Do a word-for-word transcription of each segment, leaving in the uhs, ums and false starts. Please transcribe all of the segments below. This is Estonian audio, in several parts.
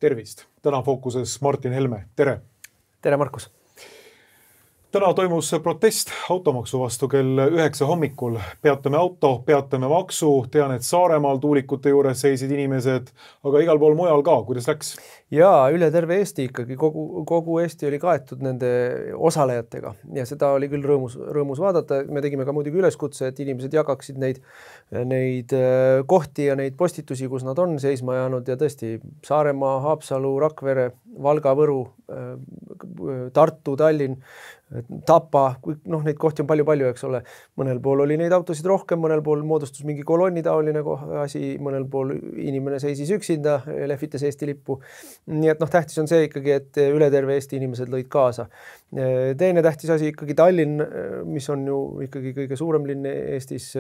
tervist! Täna fookuses Martin Helme. Tere! Tere, Markus! Täna toimus protest automaksu vastu kell üheksa hommikul. Peatame auto, peatame maksu. Tean, et Saaremaal tuulikute juures seisid inimesed, aga igal pool mujal ka. Kuidas läks? Jaa, üle terve Eesti ikkagi. Kogu, kogu Eesti oli kaetud nende osalejatega ja seda oli küll rõõmus, rõõmus vaadata. Me tegime ka muidugi üleskutse, et inimesed jagaksid neid, neid kohti ja neid postitusi, kus nad on seisma jäänud ja tõesti Saaremaa, Haapsalu, Rakvere, Valga, Võru, Tartu, Tallinn, Tapa, noh, neid kohti on palju-palju, eks ole. Mõnel pool oli neid autosid rohkem, mõnel pool moodustus mingi kolonni taoline asi, mõnel pool inimene seisis üksinda, lehvitas Eesti lippu. Nii et noh, tähtis on see ikkagi, et üle terve Eesti inimesed lõid kaasa. Teine tähtis asi ikkagi Tallinn, mis on ju ikkagi kõige suurem linn Eestis,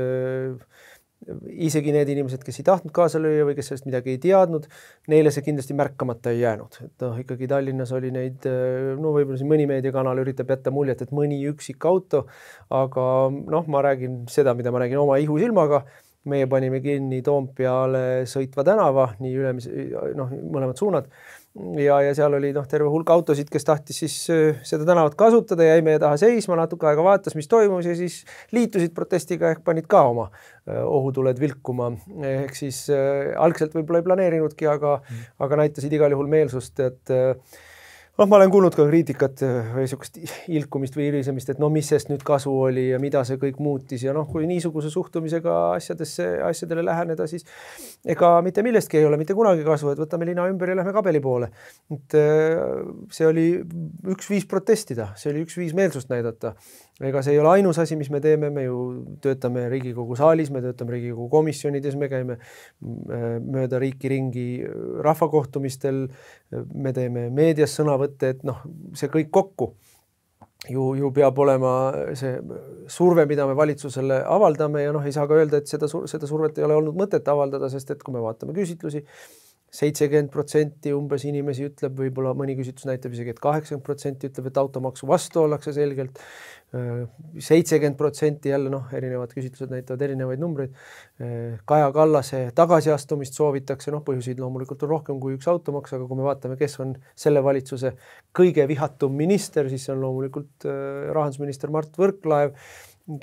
isegi need inimesed, kes ei tahtnud kaasa lüüa või kes sellest midagi ei teadnud, neile see kindlasti märkamata ei jäänud. Et noh, ikkagi Tallinnas oli neid, no võib-olla siin mõni meediakanal üritab jätta muljet, et mõni üksik auto, aga noh, ma räägin seda, mida ma räägin oma ihu silmaga. Meie panime kinni Toompeale sõitva tänava, nii ülemis, noh, mõlemad suunad. Ja, ja seal oli noh, terve hulk autosid, kes tahtis siis seda tänavat kasutada ja jäi meie taha seisma, natuke aega vaatas, mis toimus ja siis liitusid protestiga ehk panid ka oma ohutuled vilkuma. Ehk siis äh, algselt võib-olla ei planeerinudki, aga, mm. aga näitasid igal juhul meelsust, et äh, noh, ma olen kuulnud ka kriitikat või niisugust ilkumist või irisemist, et no mis sest nüüd kasu oli ja mida see kõik muutis ja noh, kui niisuguse suhtumisega asjadesse, asjadele läheneda, siis ega mitte millestki ei ole mitte kunagi kasu, et võtame lina ümber ja lähme kabeli poole. Et see oli üks viis protestida, see oli üks viis meelsust näidata. Ega see ei ole ainus asi, mis me teeme, me ju töötame Riigikogu saalis, me töötame Riigikogu komisjonides, me käime mööda riiki ringi rahvakohtumistel, me teeme meedias sõnavõtte, et noh, see kõik kokku ju, ju peab olema see surve, mida me valitsusele avaldame ja noh, ei saa ka öelda, et seda, seda survet ei ole olnud mõtet avaldada, sest et kui me vaatame küsitlusi, seitsekümmend protsenti umbes inimesi ütleb, võib-olla mõni küsitlus näitab isegi, et kaheksakümmend protsenti ütleb, et automaksu vastu ollakse selgelt. seitsekümmend protsenti jälle, noh, erinevad küsitlused näitavad erinevaid numbreid. Kaja Kallase tagasiastumist soovitakse, noh, põhjuseid loomulikult on rohkem kui üks automaks, aga kui me vaatame, kes on selle valitsuse kõige vihatum minister, siis see on loomulikult rahandusminister Mart Võrklaev,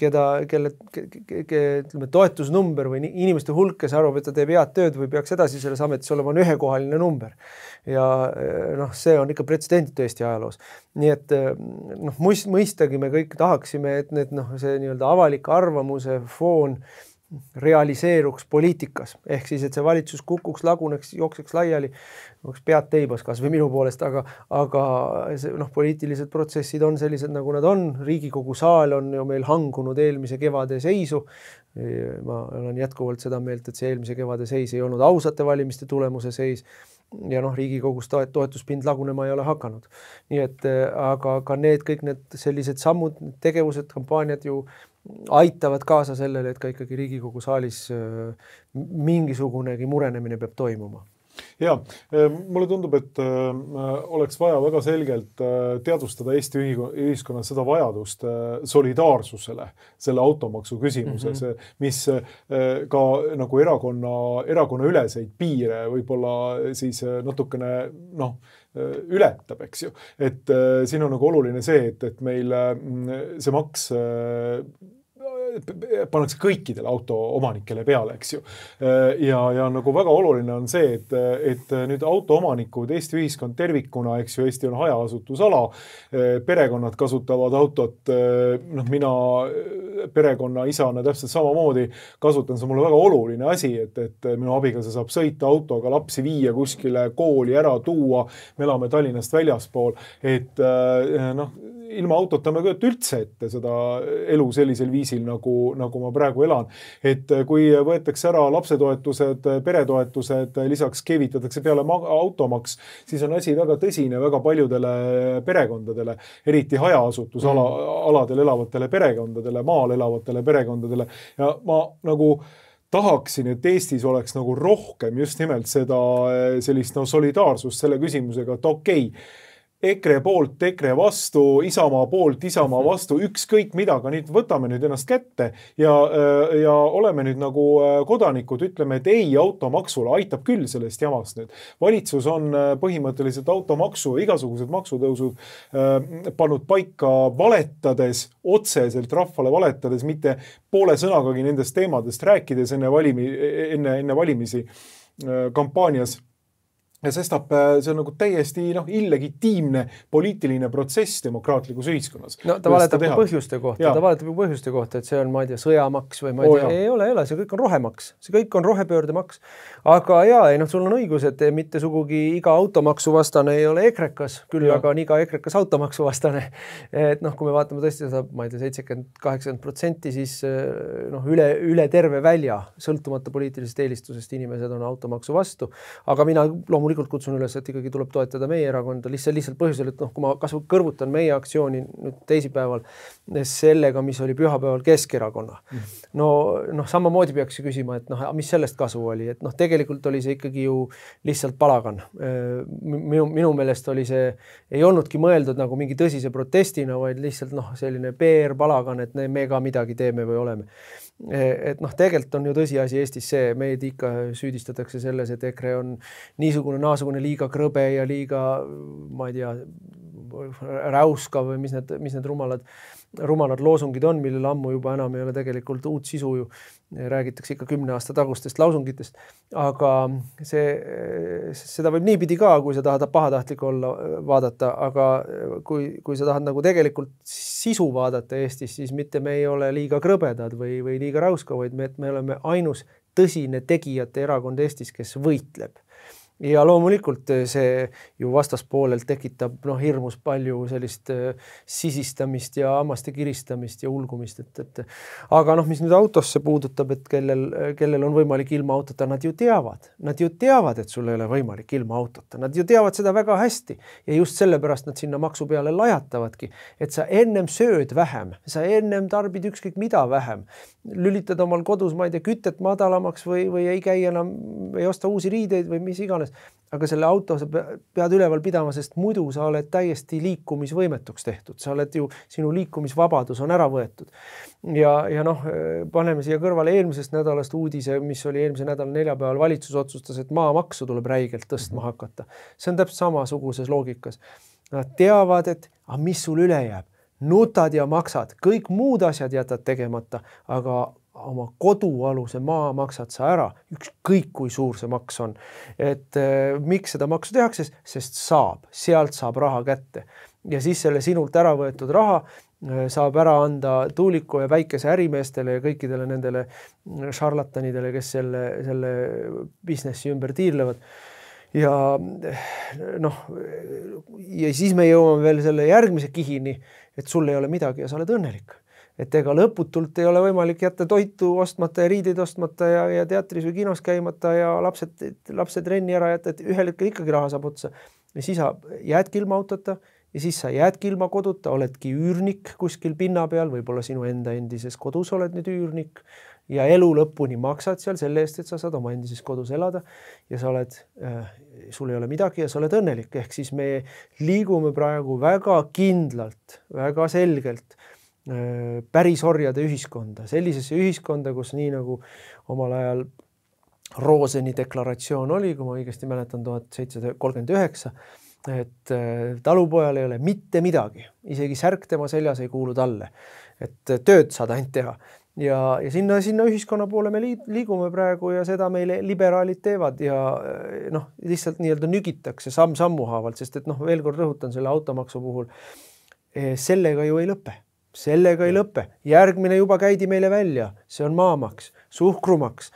keda, kelle ke, ke, ke, ütleme, toetusnumber või inimeste hulk, kes arvab, et ta teeb head tööd või peaks edasi selles ametis olema, on ühekohaline number. Ja noh, see on ikka pretsedenditu Eesti ajaloos. Nii et noh, mõistagi me kõik tahaksime, et need, noh, see nii-öelda avalik arvamuse foon realiseeruks poliitikas. Ehk siis, et see valitsus kukuks, laguneks, jookseks laiali, oleks pead teibas kas või minu poolest, aga, aga see, noh, poliitilised protsessid on sellised, nagu nad on. Riigikogu saal on ju meil hangunud eelmise kevade seisu. Ma olen jätkuvalt seda meelt, et see eelmise kevade seis ei olnud ausate valimiste tulemuse seis. Ja noh, Riigikogus toetuspind lagunema ei ole hakanud. Nii et, aga ka need kõik need sellised sammud, tegevused, kampaaniad ju aitavad kaasa sellele, et ka ikkagi Riigikogu saalis mingisugunegi murenemine peab toimuma. Ja, mulle tundub, et oleks vaja väga selgelt teadvustada Eesti ühiskonnas seda vajadust solidaarsusele selle automaksu küsimuses, mm -hmm. mis ka nagu erakonna, erakonna üleseid piire võib-olla siis natukene, noh, ületab, eks ju. Et siin on nagu oluline see, et, et meil see maks pannakse kõikidele auto omanikele peale, eks ju. Ja, ja nagu väga oluline on see, et, et nüüd auto omanikud, Eesti ühiskond tervikuna, eks ju, Eesti on hajaasutusala, perekonnad kasutavad autot, noh, mina perekonna isana täpselt samamoodi kasutan, see on mulle väga oluline asi, et, et minu abikaasa saab sõita autoga, lapsi viia kuskile kooli ära tuua, me elame Tallinnast väljaspool, et noh, ilma autota me kööt üldse ette seda elu sellisel viisil, nagu, nagu ma praegu elan. Et kui võetakse ära lapsetoetused, peretoetused, lisaks kevitatakse peale automaks, siis on asi väga tõsine väga paljudele perekondadele, eriti hajaasutusaladel elavatele perekondadele, maal elavatele perekondadele. Ja ma nagu tahaksin, et Eestis oleks nagu rohkem just nimelt seda sellist no, solidaarsust selle küsimusega, et okei, okay, EKRE poolt, EKRE vastu, Isamaa poolt, Isamaa vastu, ükskõik mida, aga nüüd võtame nüüd ennast kätte ja, ja oleme nüüd nagu kodanikud, ütleme, et ei automaksule, aitab küll sellest jamast nüüd. Valitsus on põhimõtteliselt automaksu, igasugused maksutõusud pannud paika valetades, otseselt rahvale valetades, mitte poole sõnagagi nendest teemadest rääkides enne, valimi, enne, enne valimisi kampaanias. Ja sestap see on nagu täiesti noh, illegitiimne poliitiline protsess demokraatlikus ühiskonnas. No ta valetab ka põhjuste kohta, ja. ta valetab ka põhjuste kohta, et see on, ma ei tea, sõjamaks või ma ei tea, oh, ei ole, ei ole, see kõik on rohemaks, see kõik on rohepöördemaks. Aga jaa, ei noh, sul on õigus, et mitte sugugi iga automaksu vastane ei ole ekrekas, küll ja. Aga on iga ekrekas automaksu vastane. Et noh, kui me vaatame tõesti seda, ma ei tea, seitsekümmend kaheksakümmend protsenti, siis noh, üle, üle terve välja, sõltumata poliitilisest eelistusest inimesed on automaksu vastu. Aga mina loomulikult kutsun üles, et ikkagi tuleb toetada meie erakonda lihtsalt, lihtsalt põhjusel, et noh, kui ma kasvu kõrvutan meie aktsiooni nüüd teisipäeval sellega, mis oli pühapäeval Keskerakonna. No, noh, samamoodi peaks küsima, et noh, mis sellest kasu oli, et noh, tegelikult oli see ikkagi ju lihtsalt palagan. Minu, minu meelest oli see, ei olnudki mõeldud nagu mingi tõsise protestina, vaid lihtsalt noh, selline P R palagan, et me ka midagi teeme või oleme. Et noh, tegelikult on ju tõsiasi Eestis see, meid ikka süüdistatakse selles, et EKRE on niisugune naasugune liiga krõbe ja liiga, ma ei tea, räuska või mis need, mis need rumalad, rumalad loosungid on, millel ammu juba enam ei ole tegelikult uut sisu ju. Räägitakse ikka kümne aasta tagustest lausungitest. Aga see, seda võib niipidi ka, kui sa tahad pahatahtlik olla vaadata, aga kui, kui sa tahad nagu tegelikult sisu vaadata Eestis, siis mitte me ei ole liiga krõbedad või, või liiga räuska, vaid me, me oleme ainus tõsine tegijate erakond Eestis, kes võitleb. Ja loomulikult see ju vastaspoolelt tekitab noh, hirmus palju sellist sisistamist ja hammaste kiristamist ja ulgumist. Et, et, aga noh, mis nüüd autosse puudutab, et kellel, kellel on võimalik ilma autota, nad ju teavad. Nad ju teavad, et sul ei ole võimalik ilma autota. Nad ju teavad seda väga hästi. Ja just sellepärast nad sinna maksu peale lajatavadki. Et sa ennem sööd vähem, sa ennem tarbid ükskõik mida vähem. Lülitad omal kodus, ma ei tea, kütet madalamaks või, või ei käi enam, ei osta uusi riideid või mis iganes. Aga selle auto sa pead üleval pidama, sest muidu sa oled täiesti liikumisvõimetuks tehtud. Sa oled ju, sinu liikumisvabadus on ära võetud. Ja, ja noh, paneme siia kõrvale eelmisest nädalast uudise, mis oli eelmise nädala neljapäeval valitsus otsustas, et maamaksu tuleb räigelt tõstma hakata. See on täpselt samasuguses loogikas. Nad teavad, et ah, mis sul üle jääb. Nutad ja maksad, kõik muud asjad jätad tegemata, aga oma kodualuse maa maksad sa ära, ükskõik kui suur see maks on. Et äh, miks seda maksu tehakse, sest saab, sealt saab raha kätte. Ja siis selle sinult ära võetud raha äh, saab ära anda tuuliku ja väikese ärimeestele ja kõikidele nendele šarlatanidele, kes selle, selle businessi ümber tiirlevad. Ja noh, ja siis me jõuame veel selle järgmise kihini, et sul ei ole midagi ja sa oled õnnelik. Et ega lõputult ei ole võimalik jätta toitu ostmata ja riideid ostmata ja, ja teatris või kinos käimata ja lapsed, lapsed renni ära jätta, et ühel hetkel ikkagi raha saab otsa. Ja siis sa jäädki ilma autota ja siis sa jäädki ilma koduta, oledki üürnik kuskil pinna peal, võib-olla sinu enda endises kodus oled nüüd üürnik ja elu lõpuni maksad seal selle eest, et sa saad oma endises kodus elada ja sa oled, äh, sul ei ole midagi ja sa oled õnnelik. Ehk siis me liigume praegu väga kindlalt, väga selgelt päris orjade ühiskonda, sellisesse ühiskonda, kus nii nagu omal ajal Roseni deklaratsioon oli, kui ma õigesti mäletan, tuhat seitsesada kolmkümmend üheksa, et talupojal ei ole mitte midagi, isegi särk tema seljas ei kuulu talle, et tööd saad ainult teha. Ja, ja sinna, sinna ühiskonna poole me liigume praegu ja seda meile liberaalid teevad ja noh, lihtsalt nii-öelda nügitakse samm sammu haavalt, sest et noh, veel kord rõhutan selle automaksu puhul, sellega ju ei lõpe. Sellega ei lõpe. Järgmine juba käidi meile välja. See on maamaks, suhkrumaks,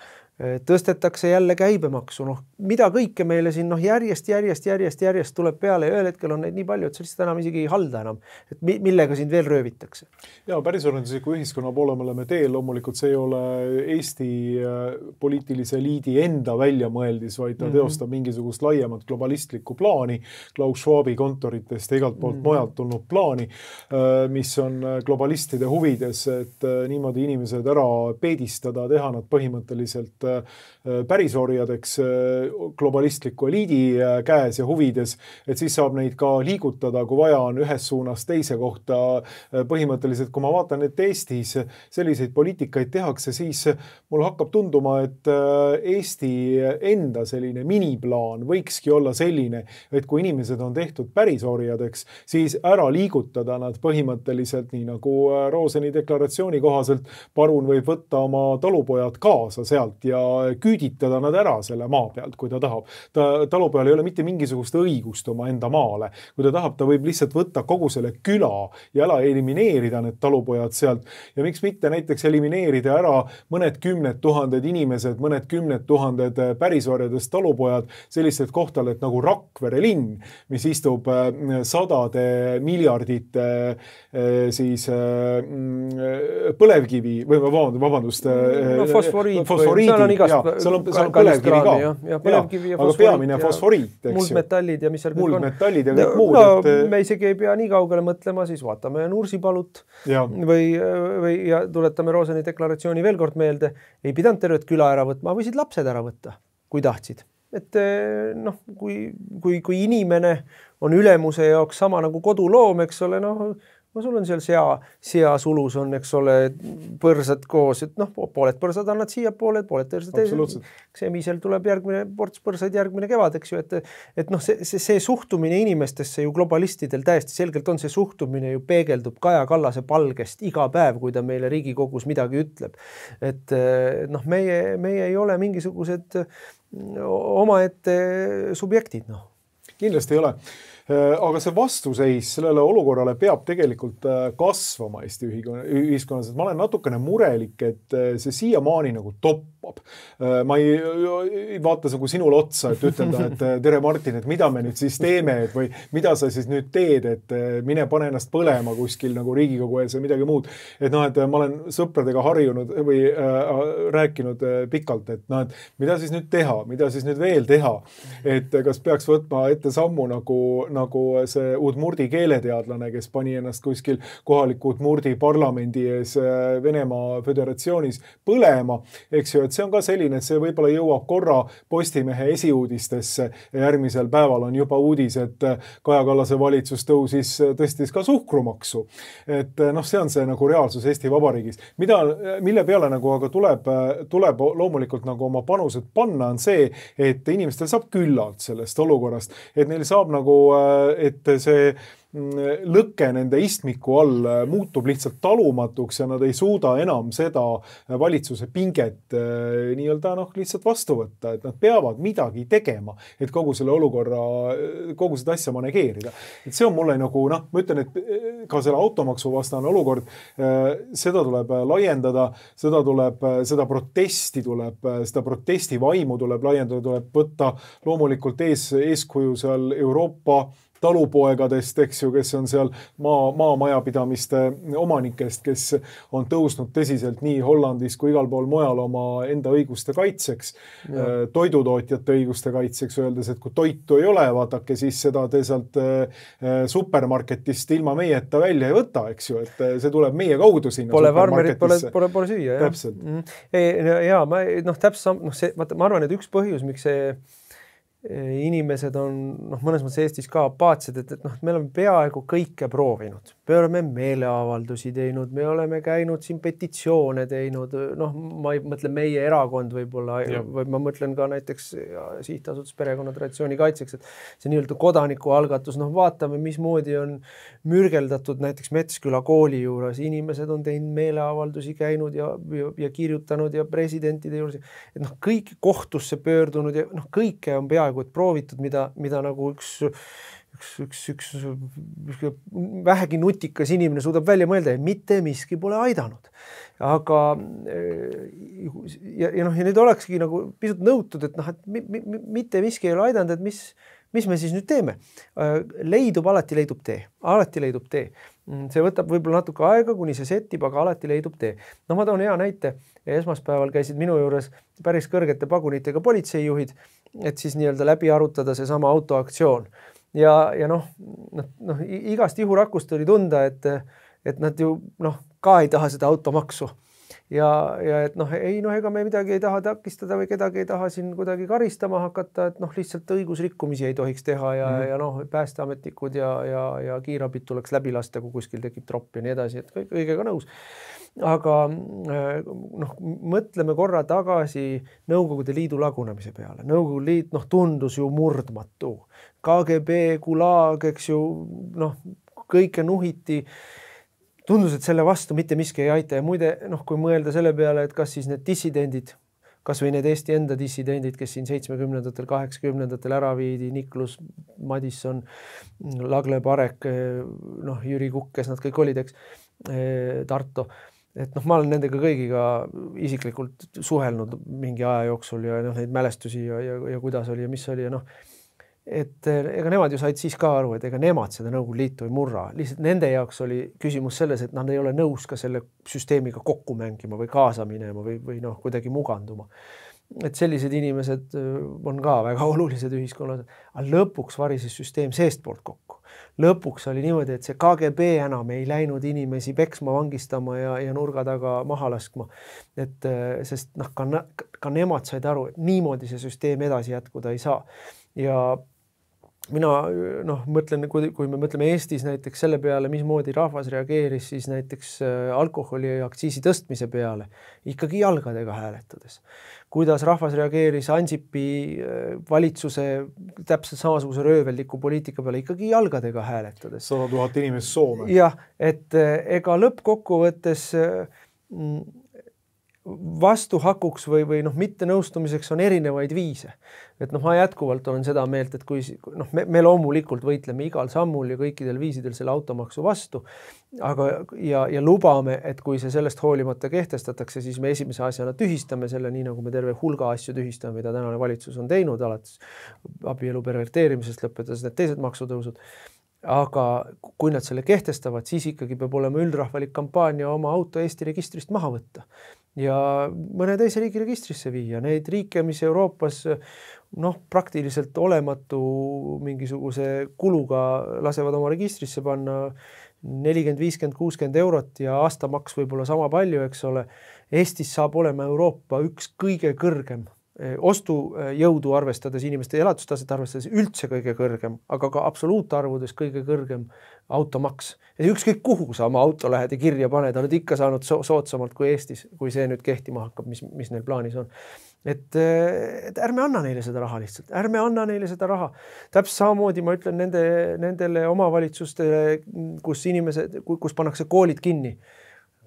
tõstetakse jälle käibemaksu. Noh, mida kõike meile siin noh, järjest, järjest, järjest, järjest tuleb peale ja ühel hetkel on neid nii palju, et sa lihtsalt enam isegi ei halda enam. Et millega sind veel röövitakse? Ja päris organisatsiooniku ühiskonna poole me oleme teel. Loomulikult see ei ole Eesti poliitilise eliidi enda väljamõeldis, vaid ta mm-hmm. teostab mingisugust laiemat globalistlikku plaani, Klaus Schwabi kontoritest ja igalt poolt mm-hmm. mojalt tulnud plaani, mis on globalistide huvides, et niimoodi inimesed ära peedistada, teha nad põhimõtteliselt pärisorjadeks globalistliku eliidi käes ja huvides, et siis saab neid ka liigutada, kui vaja on ühes suunas teise kohta. Põhimõtteliselt, kui ma vaatan, et Eestis selliseid poliitikaid tehakse, siis mul hakkab tunduma, et Eesti enda selline miniplaan võikski olla selline, et kui inimesed on tehtud pärisorjadeks, siis ära liigutada nad põhimõtteliselt nii nagu Roseni deklaratsiooni kohaselt parun võib võtta oma talupojad kaasa sealt ja küüditada nad ära selle maa pealt, kui ta tahab. Ta, talupojal ei ole mitte mingisugust õigust oma enda maale. Kui ta tahab, ta võib lihtsalt võtta kogu selle küla ja ära elimineerida need talupojad sealt. Ja miks mitte näiteks elimineerida ära mõned kümned tuhanded inimesed, mõned kümned tuhanded pärisorjadest talupojad sellised kohtaleid nagu Rakvere linn, mis istub sadade miljardite siis põlevkivi või vabandust, no, fosforiit, fosforiidi, seal on igast ja, seal on, seal on põlevkivi ka, ja, ja, põlevkivi ja aga peamine fosforiit, muldmetallid ja mis seal kõik on. Muldmetallid ja kõik muud. No, et... me isegi ei pea nii kaugele mõtlema, siis vaatame Nursipalut ja. Või, või ja tuletame Roseni deklaratsiooni veel kord meelde, ei pidanud tervet küla ära võtma, võisid lapsed ära võtta, kui tahtsid. Et noh, kui, kui, kui inimene on ülemuse jaoks sama nagu koduloom, eks ole, noh, no sul on seal sea, sea sulus on, eks ole, põrsad koos, et noh, pooled põrsad annad siia pooled, pooled teised. Semisel tuleb järgmine ports põrsaid järgmine kevad, eks ju, et, et noh, see, see, see suhtumine inimestesse ju globalistidel täiesti selgelt on, see suhtumine ju peegeldub Kaja Kallase palgest iga päev, kui ta meile Riigikogus midagi ütleb. Et noh, meie, meie ei ole mingisugused omaette subjektid, noh. Kindlasti ei ole. Aga see vastuseis sellele olukorrale peab tegelikult kasvama Eesti ühiskonnas. Ma olen natukene murelik, et see siiamaani nagu toppab. Ma ei, ei vaata nagu sinule otsa, et ütelda, et tere Martin, et mida me nüüd siis teeme, et või mida sa siis nüüd teed, et mine pane ennast põlema kuskil nagu Riigikogu ees või midagi muud. Et noh, et ma olen sõpradega harjunud või äh, rääkinud pikalt, et noh, et mida siis nüüd teha, mida siis nüüd veel teha, et kas peaks võtma ette sammu nagu nagu see Udmurdi keeleteadlane, kes pani ennast kuskil kohaliku Udmurdi parlamendi ees Venemaa Föderatsioonis põlema, eks ju, et see on ka selline, et see võib-olla jõuab korra Postimehe esiuudistesse ja järgmisel päeval on juba uudis, et Kaja Kallase valitsus tõusis, tõstis ka suhkrumaksu. Et noh, see on see nagu reaalsus Eesti Vabariigis. Mida, mille peale nagu aga tuleb, tuleb loomulikult nagu oma panused panna, on see, et inimestel saab küllalt sellest olukorrast, et neil saab nagu et see lõkke nende istmiku all muutub lihtsalt talumatuks ja nad ei suuda enam seda valitsuse pinget nii-öelda noh, lihtsalt vastu võtta, et nad peavad midagi tegema, et kogu selle olukorra, kogu seda asja manegeerida. Et see on mulle nagu, noh, ma ütlen, et ka selle automaksu vastane olukord, seda tuleb laiendada, seda tuleb, seda protesti tuleb, seda protesti vaimu tuleb laiendada, tuleb võtta loomulikult ees, eeskuju seal Euroopa talupoegadest, eks ju, kes on seal maa, maamajapidamiste omanikest, kes on tõusnud tõsiselt nii Hollandis kui igal pool mujal oma enda õiguste kaitseks, ja. Toidutootjate õiguste kaitseks, öeldes, et kui toitu ei ole, vaatake, siis seda te sealt supermarketist ilma meieta välja ei võta, eks ju, et see tuleb meie kaudu sinna pole farmerit, pole, pole, pole süüa. Täpselt. Mm. Ja, ja ma, noh, täpselt, noh, see, ma arvan, et üks põhjus, miks see inimesed on noh, mõnes mõttes Eestis ka apaatsed, et, et noh, me oleme peaaegu kõike proovinud. Me oleme meeleavaldusi teinud, me oleme käinud siin petitsioone teinud, noh, ma ei mõtle meie erakond võib-olla, või ma mõtlen ka näiteks sihtasutus perekonna traditsiooni kaitseks, et see nii-öelda kodanikualgatus, noh, vaatame, mismoodi on mürgeldatud näiteks Metsküla kooli juures, inimesed on teinud meeleavaldusi käinud ja, ja, ja kirjutanud ja presidentide juures, et noh, kõik kohtusse pöördunud ja noh, kõike on peaaegu et proovitud, mida, mida nagu üks Üks, üks, üks, üks vähegi nutikas inimene suudab välja mõelda ja mitte miski pole aidanud. Aga ja, ja, noh, ja nüüd olekski nagu pisut nõutud, et noh, et mi, mi, mitte miski ei ole aidanud, et mis, mis me siis nüüd teeme. Leidub, alati leidub tee. Alati leidub tee. See võtab võib-olla natuke aega, kuni see settib, aga alati leidub tee. No ma toon hea näite. Esmaspäeval käisid minu juures päris kõrgete pagunitega politseijuhid, et siis nii-öelda läbi arutada see sama autoaktsioon. Ja, ja noh, noh, igast ihurakust oli tunda, et, et nad ju noh, ka ei taha seda automaksu. ja, ja et noh, ei noh, ega me midagi ei taha takistada või kedagi ei taha siin kuidagi karistama hakata, et noh, lihtsalt õigusrikkumisi ei tohiks teha ja, mm-hmm. ja noh, päästeametnikud ja, ja, ja kiirabid tuleks läbi lasta, kui kuskil tekib tropp ja nii edasi, et kõik, kõigega nõus. Aga noh, mõtleme korra tagasi Nõukogude Liidu lagunemise peale. Nõukogude Liit noh, tundus ju murdmatu. K G B, Gulag, eks ju, noh, kõike nuhiti. Tundus, et selle vastu mitte miski ei aita ja muide, noh, kui mõelda selle peale, et kas siis need dissidendid, kas või need Eesti enda dissidendid, kes siin seitsmekümnendatel, kaheksakümnendatel ära viidi, Niklus, Madisson, Lagle Parek, noh, Jüri Kukk, kes nad kõik olid, eks, Tarto. Et noh, ma olen nendega kõigiga isiklikult suhelnud mingi aja jooksul ja noh, neid mälestusi ja, ja, ja kuidas oli ja mis oli ja noh, et ega nemad ju said siis ka aru, et ega nemad seda Nõukogude Liitu ei murra. Lihtsalt nende jaoks oli küsimus selles, et nad ei ole nõus ka selle süsteemiga kokku mängima või kaasa minema või, või noh, kuidagi muganduma. Et sellised inimesed on ka väga olulised ühiskonnas. Aga lõpuks varises süsteem seestpoolt kokku. Lõpuks oli niimoodi, et see K G B enam ei läinud inimesi peksma, vangistama ja, ja nurga taga maha laskma. Et, sest noh, ka, ka nemad said aru, et niimoodi see süsteem edasi jätkuda ei saa. Ja mina noh, mõtlen, kui, kui me mõtleme Eestis näiteks selle peale, mismoodi rahvas reageeris siis näiteks alkoholi aktsiisi tõstmise peale, ikkagi jalgadega hääletades. Kuidas rahvas reageeris Ansipi valitsuse täpselt samasuguse röövelliku poliitika peale, ikkagi jalgadega hääletades. sada tuhat inimest Soome. Jah, et ega lõppkokkuvõttes vastuhakuks või, või noh, mitte nõustumiseks on erinevaid viise. Et noh, ma jätkuvalt olen seda meelt, et kui noh, me, me loomulikult võitleme igal sammul ja kõikidel viisidel selle automaksu vastu, aga ja, ja lubame, et kui see sellest hoolimata kehtestatakse, siis me esimese asjana tühistame selle, nii nagu me terve hulga asju tühistame, mida tänane valitsus on teinud, alates abielu perverteerimisest lõpetades need teised maksutõusud. Aga kui nad selle kehtestavad, siis ikkagi peab olema üldrahvalik kampaania oma auto Eesti registrist maha võtta ja mõne teise riigi registrisse viia. Neid riike, mis Euroopas noh, praktiliselt olematu mingisuguse kuluga lasevad oma registrisse panna nelikümmend, viiskümmend, kuuskümmend eurot ja aastamaks võib-olla sama palju, eks ole. Eestis saab olema Euroopa üks kõige kõrgem ostujõudu arvestades, inimeste elatustaset arvestades üldse kõige kõrgem, aga ka absoluutarvudes kõige kõrgem automaks. Ja ükskõik kuhu sa oma auto lähed ja kirja paned, oled ikka saanud so soodsamalt kui Eestis, kui see nüüd kehtima hakkab, mis, mis neil plaanis on. Et, et ärme anna neile seda raha lihtsalt, ärme anna neile seda raha. Täpselt samamoodi ma ütlen nende, nendele omavalitsustele, kus inimesed, kus pannakse koolid kinni.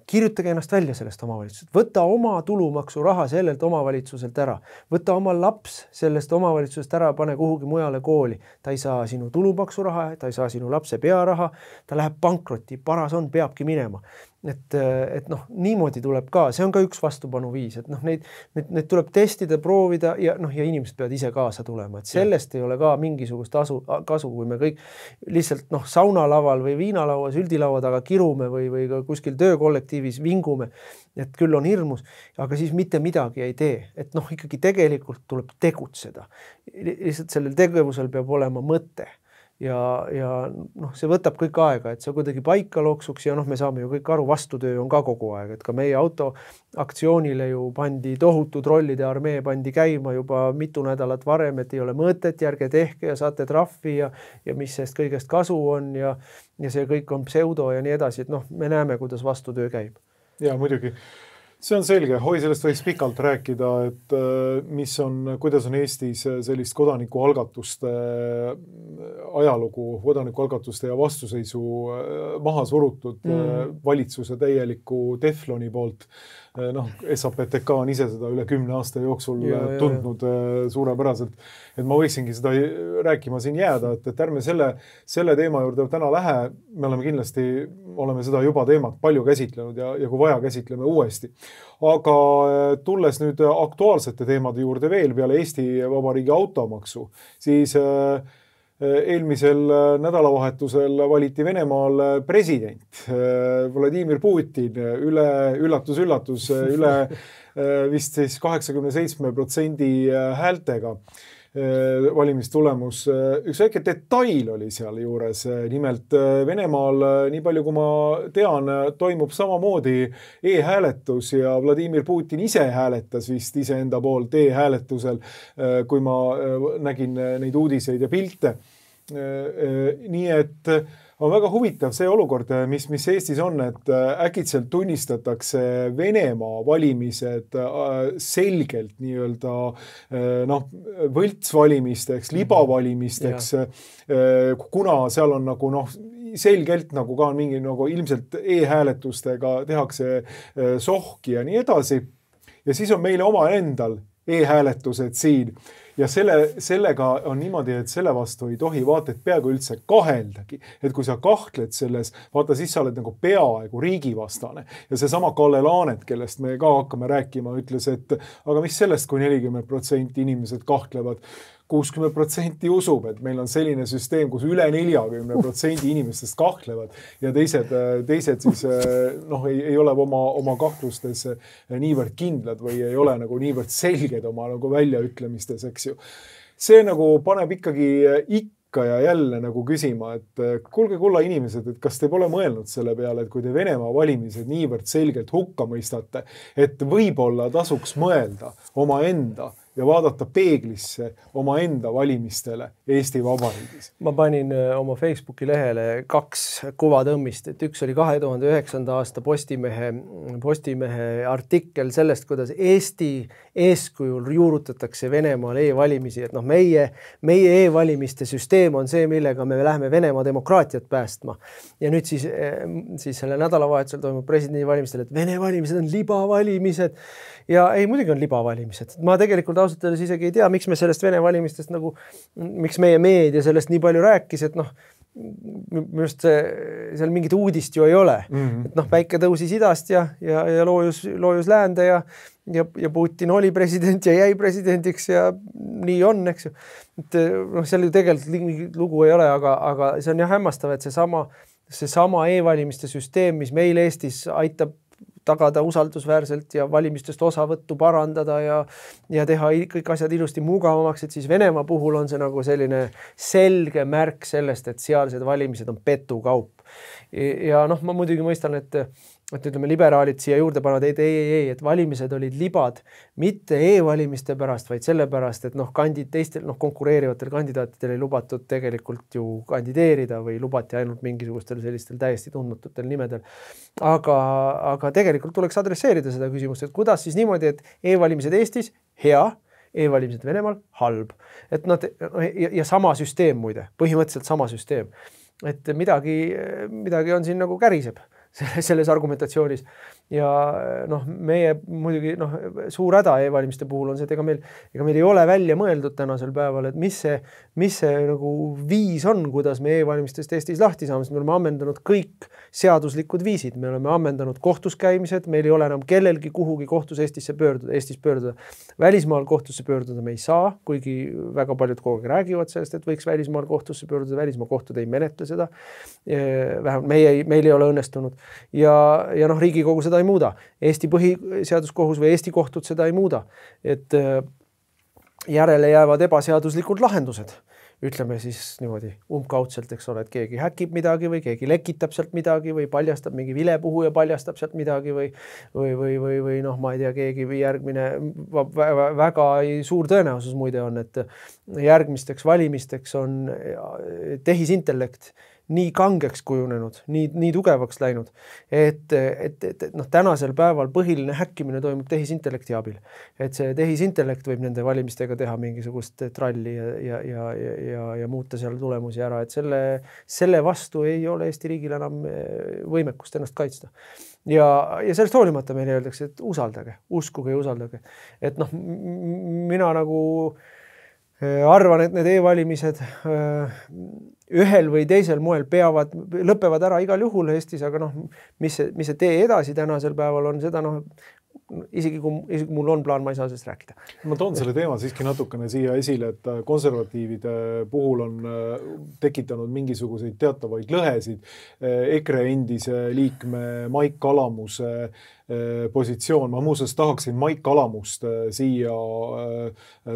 Kirjutage ennast välja sellest omavalitsusest. Võta oma tulumaksu raha sellelt omavalitsuselt ära. Võta oma laps sellest omavalitsusest ära, pane kuhugi mujale kooli. Ta ei saa sinu tulumaksu raha, ta ei saa sinu lapse pearaha, ta läheb pankrotti, paras on, peabki minema. Et, et noh, niimoodi tuleb ka, see on ka üks vastupanuviis, et noh, neid, neid, neid tuleb testida, proovida ja noh, ja inimesed peavad ise kaasa tulema, et sellest ei ole ka mingisugust asu, kasu, kui me kõik lihtsalt noh, saunalaval või viinalaua, süldilaua taga kirume või, või kuskil töökollektiivis vingume, et küll on hirmus, aga siis mitte midagi ei tee, et noh, ikkagi tegelikult tuleb tegutseda. Lihtsalt sellel tegevusel peab olema mõte. Ja, ja noh, see võtab kõik aega, et see kuidagi paika loksuks ja noh, me saame ju kõik aru, vastutöö on ka kogu aeg, et ka meie auto aktsioonile ju pandi tohutu trollide armee pandi käima juba mitu nädalat varem, et ei ole mõtet, järge tehke ja saate trahvi ja, ja mis sellest kõigest kasu on ja, ja see kõik on pseudo ja nii edasi, et noh, me näeme, kuidas vastutöö käib. Ja muidugi. See on selge, hoi sellest võiks pikalt rääkida, et mis on, kuidas on Eestis sellist kodanikualgatuste ajalugu, kodanikualgatuste ja vastuseisu maha surutud mm. valitsuse täieliku tefloni poolt. Noh, S A P T K on ise seda üle kümne aasta jooksul ja, tundnud ja, ja. suurepäraselt, et ma võiksingi seda rääkima siin jääda, et, et ärme selle, selle teema juurde täna lähe, me oleme kindlasti, oleme seda juba teemat palju käsitlenud ja, ja kui vaja, käsitleme uuesti. Aga tulles nüüd aktuaalsete teemade juurde veel peale Eesti Vabariigi automaksu, siis eelmisel nädalavahetusel valiti Venemaal president Vladimir Putin üle, üllatus, üllatus, üle vist siis kaheksakümne seitsme protsendi häältega. valimistulemus. Üks väike detail oli seal juures. Nimelt Venemaal, nii palju kui ma tean, toimub samamoodi e-hääletus ja Vladimir Putin ise hääletas vist iseenda poolt e-hääletusel, kui ma nägin neid uudiseid ja pilte. Nii et on väga huvitav see olukord, mis, mis Eestis on, et äkitselt tunnistatakse Venemaa valimised selgelt nii-öelda noh, võltsvalimisteks, libavalimisteks, kuna seal on nagu noh, selgelt nagu ka mingi nagu ilmselt e-hääletustega tehakse sohki ja nii edasi. Ja siis on meile oma endal e-hääletused siin. Ja selle, sellega on niimoodi, et selle vastu ei tohi vaata, et peaaegu üldse kaheldagi. Et kui sa kahtled selles, vaata siis sa oled nagu peaaegu riigivastane. Ja see sama Kalle Laanet, kellest me ka hakkame rääkima, ütles, et aga mis sellest, kui nelikümmend protsenti inimesed kahtlevad, kuuskümmend protsenti usub, et meil on selline süsteem, kus üle neljakümne protsendi inimestest kahtlevad ja teised, teised siis noh, ei, ei ole oma, oma kahtlustes niivõrd kindlad või ei ole nagu niivõrd selged oma nagu väljaütlemistes, eks ju. See nagu paneb ikkagi ikka ja jälle nagu küsima, et kuulge kulla inimesed, et kas te pole mõelnud selle peale, et kui te Venemaa valimised niivõrd selgelt hukka mõistate, et võib-olla tasuks mõelda oma enda ja vaadata peeglisse oma enda valimistele Eesti Vabariigis. Ma panin oma Facebooki lehele kaks kuvatõmmist, et üks oli kahe tuhande üheksanda aasta Postimehe, Postimehe artikkel sellest, kuidas Eesti eeskujul juurutatakse Venemaal e-valimisi, et noh, meie, meie e-valimiste süsteem on see, millega me läheme Venemaa demokraatiat päästma. Ja nüüd siis, siis selle nädalavahetusel toimub presidendivalimistel, et Vene valimised on libavalimised ja ei, muidugi on libavalimised. Ma tegelikult ausalt öeldes isegi ei tea, miks me sellest Vene valimistest nagu, miks meie meedia sellest nii palju rääkis, et noh, minu arust seal mingit uudist ju ei ole. Mm-hmm. Et noh, päike tõusis idast ja, ja, ja loojus, loojus läände ja, ja, ja Putin oli president ja jäi presidendiks ja nii on, eks ju. Et noh, seal ju tegelikult lugu ei ole, aga, aga see on jah hämmastav, et see sama, see sama e-valimiste süsteem, mis meil Eestis aitab tagada usaldusväärselt ja valimistest osavõttu parandada ja, ja teha kõik asjad ilusti mugavamaks, et siis Venemaa puhul on see nagu selline selge märk sellest, et sealsed valimised on petukaup. Ja noh, ma muidugi mõistan, et, et ütleme, liberaalid siia juurde panevad, et ei, ei, ei, et valimised olid libad mitte e-valimiste pärast, vaid selle pärast, et noh, kandid teistel, noh, konkureerivatel kandidaatidel ei lubatud tegelikult ju kandideerida või lubati ainult mingisugustel sellistel täiesti tundmatutel nimedel. Aga, aga tegelikult tuleks adresseerida seda küsimust, et kuidas siis niimoodi, et e-valimised Eestis hea, e-valimised Venemaal halb. Et nad, ja, ja sama süsteem muide, põhimõtteliselt sama süsteem. Et midagi, midagi on siin nagu käriseb selles argumentatsioonis. Ja noh, meie muidugi noh, suur häda e-valimiste puhul on see, et ega meil, ega meil ei ole välja mõeldud tänasel päeval, et mis see, mis see nagu viis on, kuidas me e-valimistest Eestis lahti saame, sest me oleme ammendanud kõik seaduslikud viisid, me oleme ammendanud kohtus käimised, meil ei ole enam kellelgi kuhugi kohtus Eestisse pöörduda, Eestis pöörduda. Välismaal kohtusse pöörduda me ei saa, kuigi väga paljud kogu aeg räägivad sellest, et võiks välismaal kohtusse pöörduda, välismaa kohtud ei menetle seda. Vähemalt meie, meil ei ole õnnestunud. Ja, ja noh, Riigikogu seda ei muuda. Eesti põhiseaduskohus või Eesti kohtud seda ei muuda. Et järele jäävad ebaseaduslikud lahendused. Ütleme siis niimoodi umbkaudselt, eks ole, et keegi häkib midagi või keegi lekitab sealt midagi või paljastab mingi vilepuhuja paljastab sealt midagi või, või, või, või, või noh, ma ei tea, keegi või järgmine väga suur tõenäosus muide on, et järgmisteks valimisteks on tehisintellekt nii kangeks kujunenud, nii, nii tugevaks läinud, et, et, et noh, tänasel päeval põhiline häkkimine toimub tehisintellekti abil. Et see tehisintellekt võib nende valimistega teha mingisugust tralli ja, ja, ja, ja, ja muuta seal tulemusi ära, et selle, selle vastu ei ole Eesti riigil enam võimekust ennast kaitsta. Ja, ja sellest hoolimata meile öeldakse, et usaldage, uskuge ja usaldage. Et noh, mina nagu arvan, et need e-valimised ühel või teisel moel peavad, lõpevad ära igal juhul Eestis, aga noh, mis see, mis see tee edasi tänasel päeval on, seda noh, isegi kui, isegi kui mul on plaan, ma ei saa sellest rääkida. Ma toon selle teema siiski natukene siia esile, et konservatiivide puhul on tekitanud mingisuguseid teatavaid lõhesid. EKRE endise liikme Maik Kalamuse positsioon. Ma muuseas tahaksin Maik Kalamust siia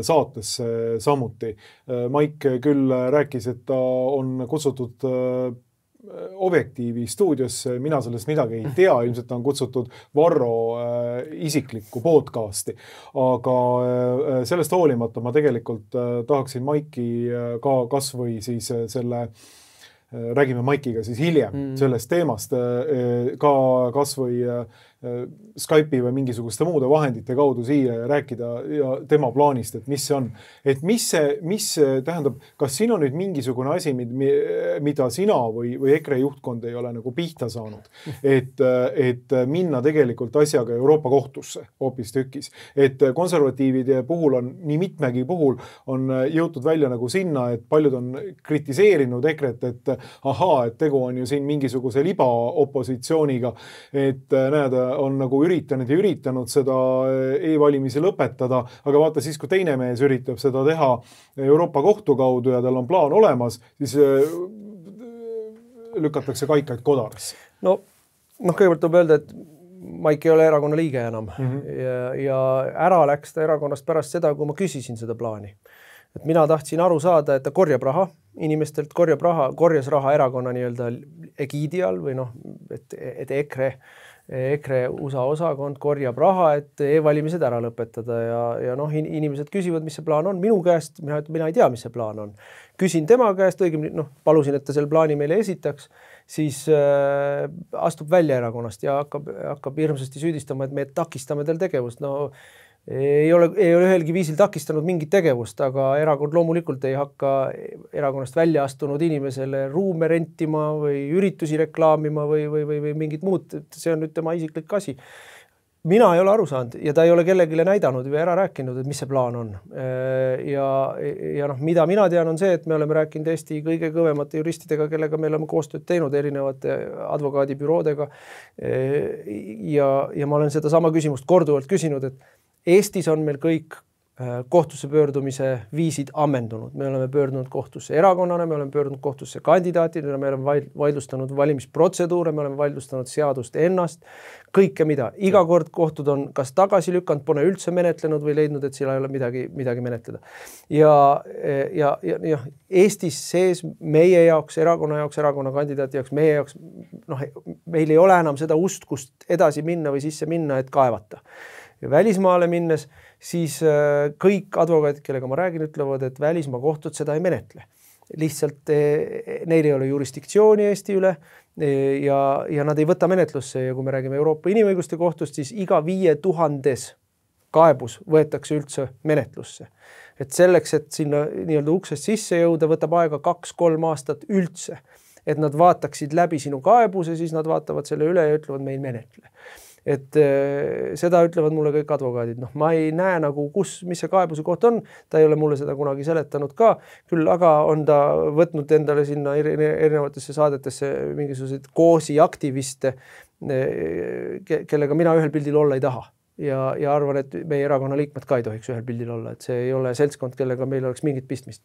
saatesse samuti. Maik küll rääkis, et ta on kutsutud Objektiivi stuudiosse, mina sellest midagi ei tea, ilmselt ta on kutsutud Varro isiklikku podcasti, aga sellest hoolimata ma tegelikult tahaksin Maiki ka kas või siis selle, räägime Maikiga siis hiljem mm. sellest teemast, ka kas või Skype'i või mingisuguste muude vahendite kaudu siia ja rääkida ja tema plaanist, et mis see on. Et mis see, mis tähendab, kas siin on nüüd mingisugune asi, mida sina või, või EKRE juhtkond ei ole nagu pihta saanud, et, et minna tegelikult asjaga Euroopa kohtusse hoopis tükis. Et konservatiivide puhul on, nii mitmegi puhul on jõutud välja nagu sinna, et paljud on kritiseerinud EKRE-t, et ahaa, et tegu on ju siin mingisuguse libaopositsiooniga, et näed, on nagu üritanud ja üritanud seda e-valimisi lõpetada, aga vaata siis, kui teine mees üritab seda teha Euroopa kohtu kaudu ja tal on plaan olemas, siis lükatakse kaikaid kodarasse. No, noh, kõigepealt tuleb öelda, et Maik ei ole erakonna liige enam mm -hmm. ja, ja ära läks ta erakonnast pärast seda, kui ma küsisin seda plaani. Et mina tahtsin aru saada, et ta korjab raha inimestelt, korjab raha, korjas raha erakonna nii-öelda egiidi all või noh, et, et EKRE EKRE U S A osakond korjab raha, et e-valimised ära lõpetada ja, ja noh, inimesed küsivad, mis see plaan on. Minu käest, mina, mina ei tea, mis see plaan on. Küsin tema käest, õigemini, noh, palusin, et ta selle plaani meile esitaks, siis äh, astub välja erakonnast ja hakkab, hakkab hirmsasti süüdistama, et me takistame tal tegevust. No ei ole, ei ole ühelgi viisil takistanud mingit tegevust, aga erakond loomulikult ei hakka erakonnast välja astunud inimesele ruume rentima või üritusi reklaamima või, või, või, või mingit muud. See on nüüd tema isiklik asi. Mina ei ole aru saanud ja ta ei ole kellegile näidanud või ära rääkinud, et mis see plaan on. Ja, ja noh, mida mina tean on see, et me oleme rääkinud Eesti kõige kõvemate juristidega, kellega me oleme koostööd teinud erinevate advokaadibüroodega. Ja, ja ma olen seda sama küsimust korduvalt küsinud, et Eestis on meil kõik kohtusse pöördumise viisid ammendunud. Me oleme pöördunud kohtusse erakonnana, me oleme pöördunud kohtusse kandidaatidena, me oleme vaidlustanud valimisprotseduure, me oleme vaidlustanud seadust ennast, kõike mida. Iga kord kohtud on kas tagasi lükanud, pole üldse menetlenud või leidnud, et seal ei ole midagi, midagi menetleda. Ja, ja, ja, ja Eestis sees meie jaoks, erakonna jaoks, erakonna kandidaati jaoks, meie jaoks, noh, meil ei ole enam seda ust, kust edasi minna või sisse minna, et kaevata. Ja välismaale minnes, siis kõik advokaadid, kellega ma räägin, ütlevad, et välismaa kohtud seda ei menetle. Lihtsalt neil ei ole jurisdiktsiooni Eesti üle ja, ja nad ei võta menetlusse. Ja kui me räägime Euroopa inimõiguste kohtust, siis iga viie tuhandes kaebus võetakse üldse menetlusse. Et selleks, et sinna nii-öelda uksest sisse jõuda, võtab aega kaks-kolm aastat üldse. Et nad vaataksid läbi sinu kaebuse, siis nad vaatavad selle üle ja ütlevad, me ei menetle. Et seda ütlevad mulle kõik advokaadid. Noh, ma ei näe nagu, kus, mis see kaebuse koht on. Ta ei ole mulle seda kunagi seletanud ka. Küll aga on ta võtnud endale sinna erinevatesse saadetesse mingisuguseid koosi aktiviste, kellega mina ühel pildil olla ei taha. Ja, ja arvan, et meie erakonna liikmed ka ei tohiks ühel pildil olla. Et see ei ole seltskond, kellega meil oleks mingit pistmist.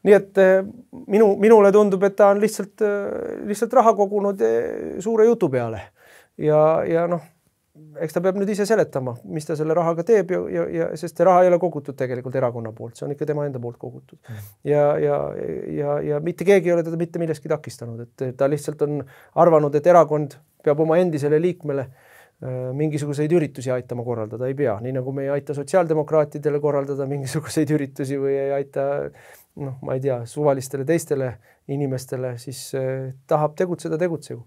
Nii et minu, minule tundub, et ta on lihtsalt, lihtsalt raha kogunud suure jutu peale. Ja, ja noh, eks ta peab nüüd ise seletama, mis ta selle rahaga teeb, ja, ja, ja, sest see raha ei ole kogutud tegelikult erakonna poolt, see on ikka tema enda poolt kogutud. Ja, ja, ja, ja mitte keegi ei ole teda mitte milleski takistanud, et ta lihtsalt on arvanud, et erakond peab oma endisele liikmele mingisuguseid üritusi aitama korraldada, ei pea. Nii nagu me ei aita sotsiaaldemokraatidele korraldada mingisuguseid üritusi või ei aita, noh, ma ei tea, suvalistele teistele inimestele, siis eh, tahab tegutseda, tegutsegu.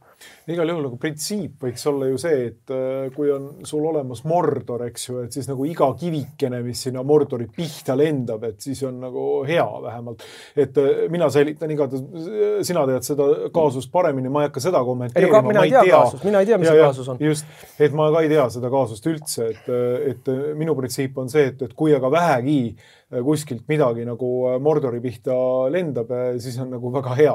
Igal juhul nagu printsiip võiks olla ju see, et äh, kui on sul olemas Mordor, eks ju, et siis nagu iga kivikene, mis sinna Mordori pihta lendab, et siis on nagu hea vähemalt. Et äh, mina säilitan igatahes, sina tead seda kaasust paremini, ma ei hakka seda kommenteerima. Ei, mina ei tea, tea kaasust, mina ei tea, mis ja, see kaasus on. Just, et ma ka ei tea seda kaasust üldse, et, et minu printsiip on see, et, et kui aga vähegi kuskilt midagi nagu Mordori pihta lendab, siis on nagu väga hea.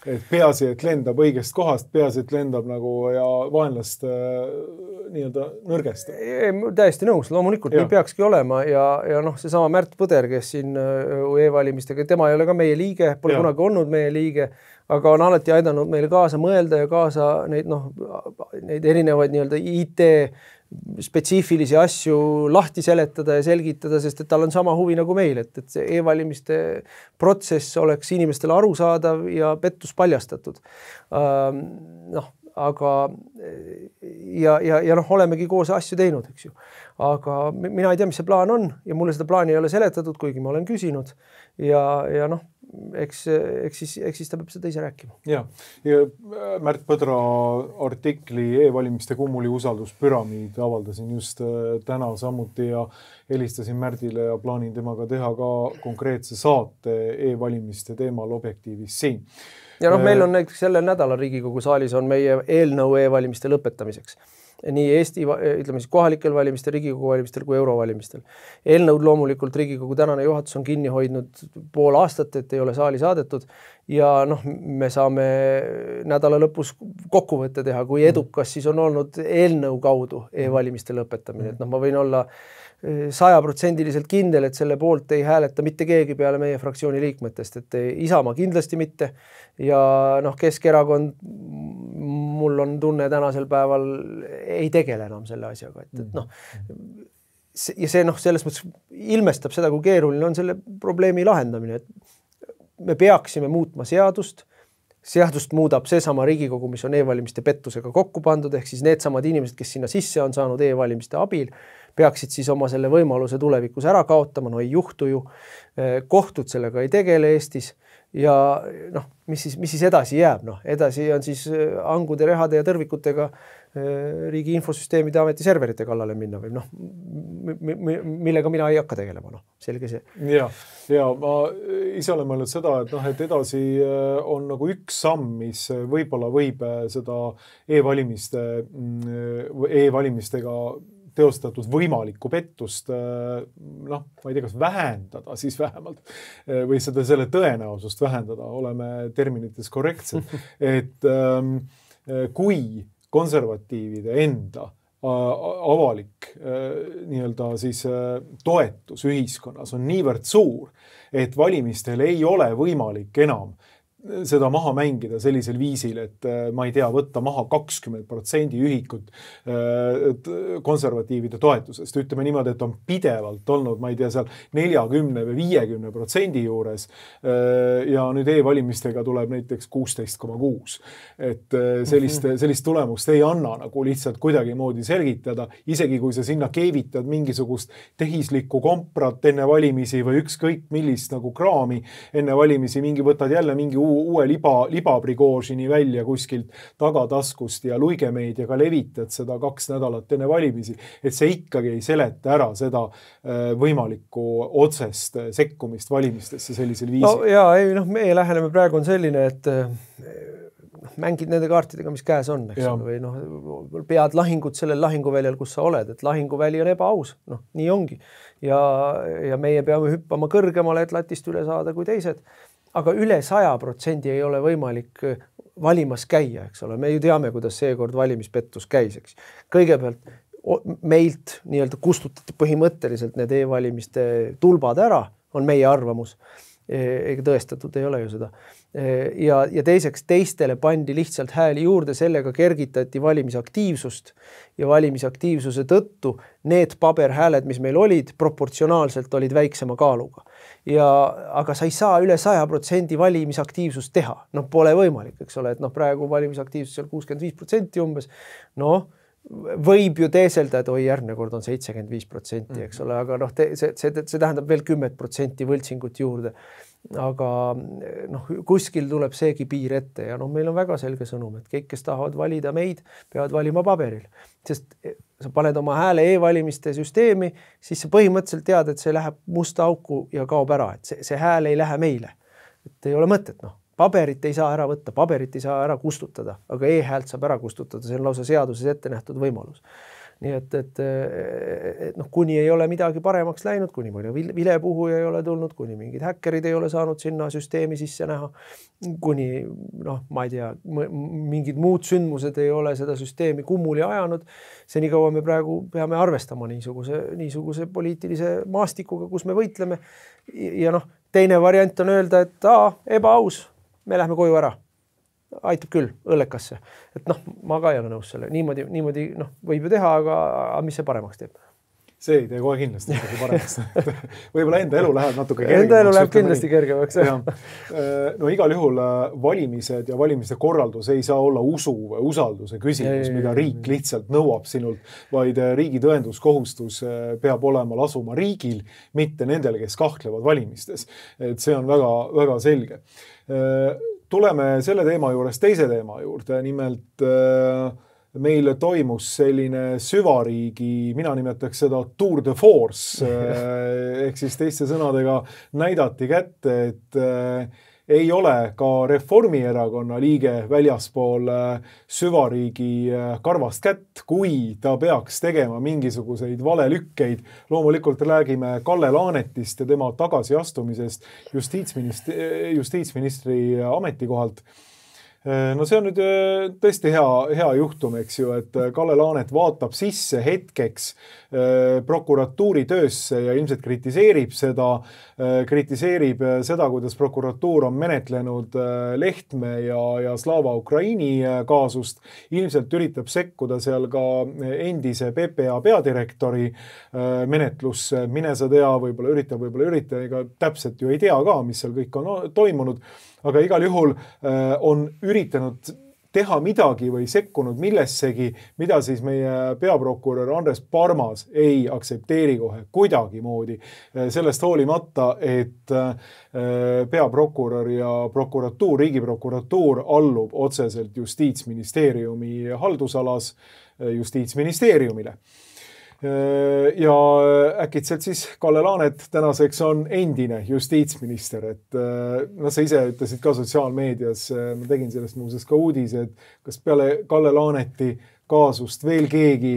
Et peaasi, et lendab õigest kohast, peaasi, et lendab nagu ja vaenlast nii-öelda nõrgestab. Täiesti nõus, loomulikult ja. Nii peakski olema ja, ja noh, see sama Märt Põder, kes siin e-valimistega, tema ei ole ka meie liige, pole ja. Kunagi olnud meie liige, aga on alati aidanud meile kaasa mõelda ja kaasa neid, noh, neid erinevaid nii-öelda I T spetsiifilisi asju lahti seletada ja selgitada, sest et tal on sama huvi nagu meil, et, et see e-valimiste protsess oleks inimestele arusaadav ja pettus paljastatud. Ähm, noh, aga ja, ja, ja noh, olemegi koos asju teinud, eks ju. Aga mina ei tea, mis see plaan on ja mulle seda plaani ei ole seletatud, kuigi ma olen küsinud ja, ja noh, eks, eks, siis, eks siis ta peab seda ise rääkima. Ja, ja Märt Põdra artikli e-valimiste kummuli usalduspüramiid avaldasin just täna samuti ja helistasin Märdile ja plaanin temaga teha ka konkreetse saate e-valimiste teemal Objektiivis siin. Ja noh, meil on näiteks sellel nädalal Riigikogu saalis on meie eelnõu e-valimiste lõpetamiseks. Nii Eesti, ütleme siis kohalikel valimistel, Riigikogu valimistel kui eurovalimistel. Eelnõud loomulikult Riigikogu tänane juhatus on kinni hoidnud pool aastat, et ei ole saali saadetud ja noh, me saame nädala lõpus kokkuvõtte teha, kui edukas siis on olnud eelnõu kaudu e-valimiste lõpetamine. Et noh, ma võin olla sajaprotsendiliselt kindel, et selle poolt ei hääleta mitte keegi peale meie fraktsiooni liikmetest, et Isamaa kindlasti mitte ja noh, Keskerakond mul on tunne tänasel päeval ei tegele enam selle asjaga, et, et noh ja see noh, selles mõttes ilmestab seda, kui keeruline on selle probleemi lahendamine, et me peaksime muutma seadust, seadust muudab seesama Riigikogu, mis on e-valimiste pettusega kokku pandud, ehk siis need samad inimesed, kes sinna sisse on saanud e-valimiste abil, peaksid siis oma selle võimaluse tulevikus ära kaotama, no ei juhtu ju, kohtud sellega ei tegele Eestis ja noh, mis siis, mis siis edasi jääb, noh, edasi on siis angude, rehade ja tõrvikutega riigi infosüsteemide ameti serverite kallale minna või noh, millega mina ei hakka tegelema, noh, selge see. Ja, ja ma ise olen mõelnud seda, et noh, et edasi on nagu üks samm, mis võib-olla võib seda e-valimiste, e-valimistega teostatud võimalikku pettust, noh, ma ei tea, kas vähendada siis vähemalt või seda selle tõenäosust vähendada, oleme terminites korrektsed, et kui konservatiivide enda avalik nii-öelda siis toetus ühiskonnas on niivõrd suur, et valimistel ei ole võimalik enam seda maha mängida sellisel viisil, et ma ei tea, võtta maha kakskümmend protsenti ühikut konservatiivide toetusest. Ütleme niimoodi, et on pidevalt olnud, ma ei tea, seal neljakümne või viiekümne protsendi juures ja nüüd e-valimistega tuleb näiteks kuusteist koma kuus. Et sellist, sellist tulemust ei anna nagu lihtsalt kuidagi moodi selgitada, isegi kui sa sinna keevitad mingisugust tehislikku komprat enne valimisi või ükskõik millist nagu kraami enne valimisi, mingi võtad jälle mingi uue liba, libabrigoožini välja kuskilt tagataskust ja luigemeediaga levitad seda kaks nädalat enne valimisi, et see ikkagi ei seleta ära seda võimalikku otsest sekkumist valimistesse sellisel viisil. No jaa, ei, noh, meie läheneme praegu on selline, et mängid nende kaartidega, mis käes on, eks ole, või noh, pead lahingut sellel lahinguväljal, kus sa oled, et lahinguväli on ebaaus, noh, nii ongi. Ja, ja meie peame hüppama kõrgemale, et latist üle saada kui teised. Aga üle saja protsendi ei ole võimalik valimas käia, eks ole. Me ju teame, kuidas seekord valimispettus käis, eks. Kõigepealt meilt nii-öelda kustutati põhimõtteliselt need e-valimiste tulbad ära, on meie arvamus. Ega tõestatud ei ole ju seda. Ja, ja teiseks teistele pandi lihtsalt hääli juurde, sellega kergitati valimisaktiivsust ja valimisaktiivsuse tõttu need paberhääled, mis meil olid, proportsionaalselt olid väiksema kaaluga. Ja, aga sa ei saa üle saja protsendi valimisaktiivsust teha. Noh, pole võimalik, eks ole, et noh, praegu valimisaktiivsus on kuuskümmend viis protsenti umbes. Noh, võib ju teeselda, et oi, järgmine kord on seitsekümmend viis protsenti, eks ole, aga noh, see, see, see tähendab veel kümme protsenti võltsingut juurde. Aga noh, kuskil tuleb seegi piir ette ja noh, meil on väga selge sõnum, et kõik, kes tahavad valida meid, peavad valima paberil. Sest sa paned oma hääle e-valimiste süsteemi, siis sa põhimõtteliselt tead, et see läheb musta auku ja kaob ära, et see, see hääl ei lähe meile. Et ei ole mõtet, noh. Paberit ei saa ära võtta, paberit ei saa ära kustutada, aga e-häält saab ära kustutada, see on lausa seaduses ette nähtud võimalus. nii et, et, et noh, kuni ei ole midagi paremaks läinud, kuni mõne vilepuhuja ei ole tulnud, kuni mingid häkkerid ei ole saanud sinna süsteemi sisse näha, kuni noh, ma ei tea, mingid muud sündmused ei ole seda süsteemi kummuli ajanud, see nii kaua me praegu peame arvestama niisuguse, niisuguse poliitilise maastikuga, kus me võitleme. Ja noh, teine variant on öelda, et aa, ebaaus, me lähme koju ära. Aitab küll õllekasse. Et noh, ma ka ei ole nõus selle. Niimoodi, niimoodi noh, võib ju teha, aga, aga mis see paremaks teeb? See ei tee kohe kindlasti paremaks. Võib-olla enda elu läheb natuke kergemaks. Enda elu läheb kindlasti kergemaks. No igal juhul valimised ja valimiste korraldus ei saa olla usu või usalduse küsimus, mida riik lihtsalt nõuab sinult, vaid riigi tõenduskohustus peab olema lasuma riigil, mitte nendel, kes kahtlevad valimistes. Et see on väga, väga selge. Tuleme selle teema juures teise teema juurde, nimelt meil toimus selline süvariigi, mina nimetaks seda Tour de Force, ehk siis teiste sõnadega näidati kätte, et ei ole ka Reformierakonna liige väljaspool süvariigi karvast kätt, kui ta peaks tegema mingisuguseid valelükkeid. Loomulikult räägime Kalle Laanetist ja tema tagasiastumisest justiitsministri, justiitsministri ametikohalt. No see on nüüd tõesti hea, hea juhtum, eks ju, et Kalle Laanet vaatab sisse hetkeks prokuratuuri töösse ja ilmselt kritiseerib seda, kritiseerib seda, kuidas prokuratuur on menetlenud Lehtme ja, ja Slava Ukraini kaasust. Ilmselt üritab sekkuda seal ka endise P P A peadirektori menetlusse. Mine sa tea, võib-olla üritab, võib-olla ürita, ega täpselt ju ei tea ka, mis seal kõik on toimunud. Aga igal juhul on üritanud teha midagi või sekkunud millessegi, mida siis meie peaprokurör Andres Parmas ei aksepteeri kohe kuidagi moodi. Sellest hoolimata, et peaprokurör ja prokuratuur, riigiprokuratuur allub otseselt justiitsministeeriumi haldusalas justiitsministeeriumile. Ja äkitselt siis Kalle Laanet tänaseks on endine justiitsminister, et no sa ise ütlesid ka sotsiaalmeedias, ma tegin sellest muuseas ka uudise, et kas peale Kalle Laaneti kaasust veel keegi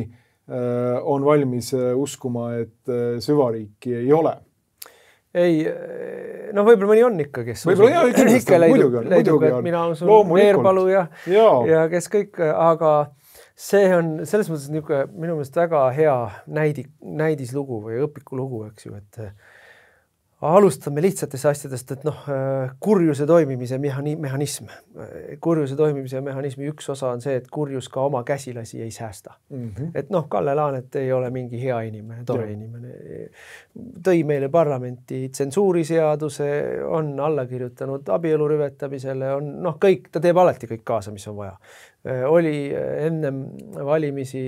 on valmis uskuma, et süvariiki ei ole? Ei, no võib-olla mõni on ikka, kes võib-olla jah, ikka leidub, leidub, et mina on sul Veerpalu ja, ja kes kõik, aga see on selles mõttes niisugune minu meelest väga hea näidi, näidislugu või õpikulugu, eks ju, et alustame lihtsatest asjadest, et noh, kurjuse toimimise mehhanism. Kurjuse toimimise mehhanismi üks osa on see, et kurjus ka oma käsilasi ei säästa. Mm-hmm. Et noh, Kalle Laanet ei ole mingi hea inimene, tore ja. inimene. Tõi meile parlamenti tsensuuriseaduse, on alla kirjutanud abielu rüvetamisele, on noh, kõik, ta teeb alati kõik kaasa, mis on vaja. Oli ennem valimisi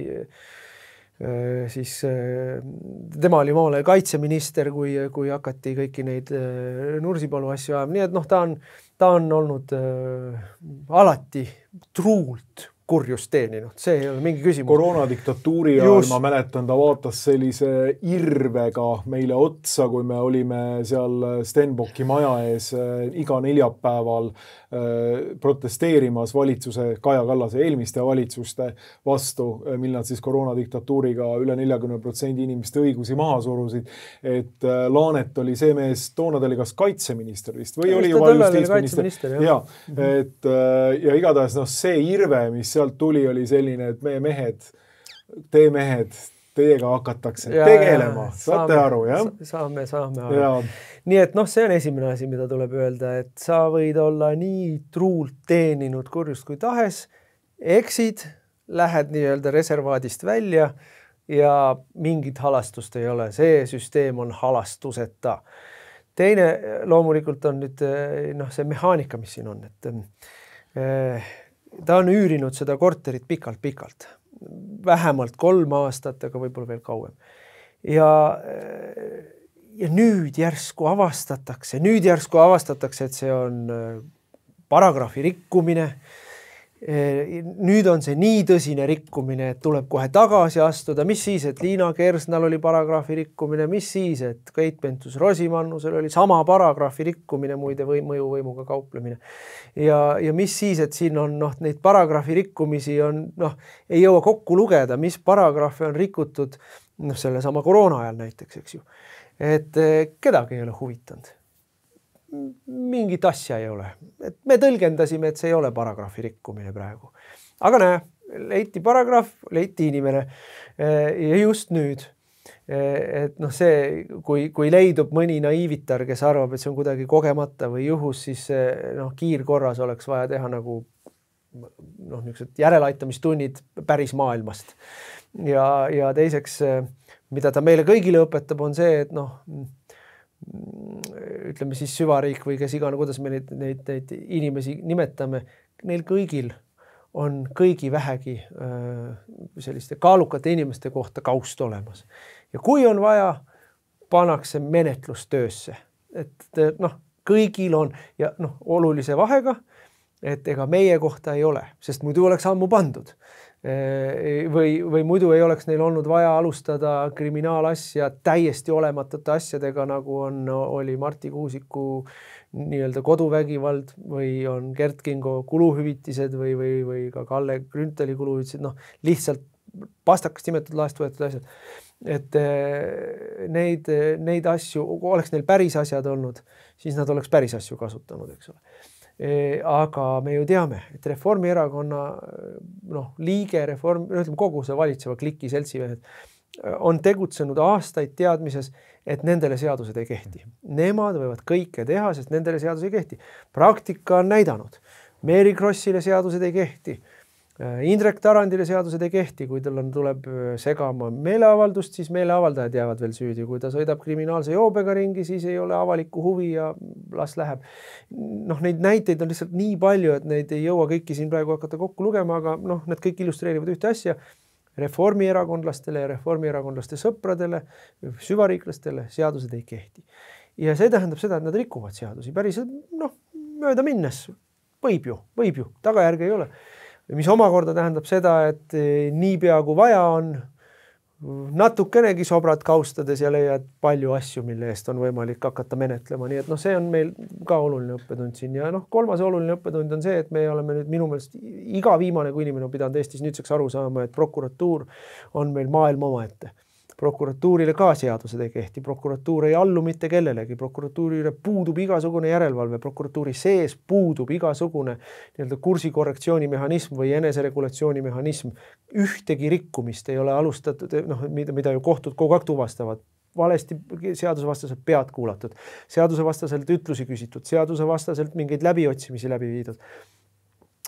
siis tema oli maale kaitseminister, kui, kui hakati kõiki neid Nursipalu asju ajama. Nii et noh, ta on, ta on olnud äh, alati truult kurjust teeninud. See ei ole mingi küsimus. Koroonadiktatuuri ajal ma mäletan, ta vaatas sellise irvega meile otsa, kui me olime seal Stenbocki maja ees iga neljapäeval protesteerimas valitsuse Kaja Kallase eelmiste valitsuste vastu, mil nad siis koroonadiktatuuriga üle neljakümne protsendi inimeste õigusi maha surusid. Et Laanet oli see mees, toona ta oli kas kaitseminister vist või oli juba justiitsminister. Ja, et, ja igatahes no, see irve, mis sealt tuli, oli selline, et meie mehed, te mehed, teiega hakatakse ja, tegelema. Saate aru, jah? Saame, saame aru. Ja. Nii et noh, see on esimene asi, mida tuleb öelda, et sa võid olla nii truult teeninud kurjust kui tahes, eksid, lähed nii-öelda reservaadist välja ja mingit halastust ei ole. See süsteem on halastuseta. Teine loomulikult on nüüd noh, see mehaanika, mis siin on, et eh, ta on üürinud seda korterit pikalt-pikalt. Vähemalt kolm aastat, aga võib-olla veel kauem. Ja, ja nüüd järsku avastatakse, nüüd järsku avastatakse, et see on paragrahvi rikkumine nüüd on see nii tõsine rikkumine, et tuleb kohe tagasi astuda, mis siis, et Liina Kersnal oli paragrahvi rikkumine, mis siis, et Keit Pentus-Rosimannusel oli sama paragrahvi rikkumine, muide või mõjuvõimuga kauplemine. Ja, ja mis siis, et siin on noh, neid paragrahvi rikkumisi on, noh, ei jõua kokku lugeda, mis paragrahvi on rikutud, noh, selle sama koroona ajal näiteks, eks ju. Et kedagi ei ole huvitanud. Mingit asja ei ole. Et me tõlgendasime, et see ei ole paragrahvi rikkumine praegu. Aga näe, leiti paragrahv, leiti inimene ja just nüüd. Et noh, see, kui, kui leidub mõni naiivitar, kes arvab, et see on kuidagi kogemata või juhus, siis noh, kiirkorras oleks vaja teha nagu noh, niisugused järeleaitamistunnid päris maailmast. Ja, ja teiseks, mida ta meile kõigile õpetab, on see, et noh, ütleme siis süvariik või kes igana, kuidas me neid, neid, neid inimesi nimetame, neil kõigil on kõigi vähegi selliste kaalukate inimeste kohta kaust olemas. Ja kui on vaja, pannakse menetlustöösse. Et noh, kõigil on ja noh, olulise vahega, et ega meie kohta ei ole, sest muidu oleks ammu pandud. Või, või muidu ei oleks neil olnud vaja alustada kriminaalasja täiesti olematute asjadega, nagu on, oli Marti Kuusiku nii-öelda koduvägivald või on Gert Kingo kuluhüvitised või, või, või ka Kalle Grünthali kuluhüvitised, noh, lihtsalt pastakast imetud laest võetud asjad. Et neid, neid asju, kui oleks neil päris asjad olnud, siis nad oleks päris asju kasutanud, eks ole. Aga me ju teame, et Reformierakonna noh, liige, reform, ütleme, kogu see valitseva kliki seltsimehed on tegutsenud aastaid teadmises, et nendele seadused ei kehti. Nemad võivad kõike teha, sest nendele seadus ei kehti. Praktika on näidanud. Mary Krossile seadused ei kehti. Indrek Tarandile seadused ei kehti, kui tal on, tuleb segama meeleavaldust, siis meeleavaldajad jäävad veel süüdi. Kui ta sõidab kriminaalse joobega ringi, siis ei ole avalikku huvi ja las läheb. Noh, neid näiteid on lihtsalt nii palju, et neid ei jõua kõiki siin praegu hakata kokku lugema, aga noh, need kõik illustreerivad ühte asja. Reformierakondlastele ja reformierakondlaste sõpradele, süvariiklastele seadused ei kehti. Ja see tähendab seda, et nad rikuvad seadusi. Päris noh, mööda minnes võib ju, võib ju, tagajärge ei ole. Mis omakorda tähendab seda, et niipea kui vaja on, natukenegi sobrad kaustades ja leiad palju asju, mille eest on võimalik hakata menetlema. Nii et noh, see on meil ka oluline õppetund siin. Ja noh, kolmas oluline õppetund on see, et me oleme nüüd minu meelest iga viimane, kui inimene on pidanud Eestis nüüdseks aru saama, et prokuratuur on meil maailma omaette. Prokuratuurile ka seadused ei kehti, prokuratuur ei allu mitte kellelegi, prokuratuurile puudub igasugune järelevalve, prokuratuuri sees puudub igasugune nii-öelda kursikorrektsiooni mehhanism või eneseregulatsiooni mehhanism. Ühtegi rikkumist ei ole alustatud, noh, mida, mida ju kohtud kogu aeg tuvastavad. Valesti seadusevastaselt pead kuulatud, seadusevastaselt ütlusi küsitud, seadusevastaselt mingeid läbiotsimisi läbi viidud.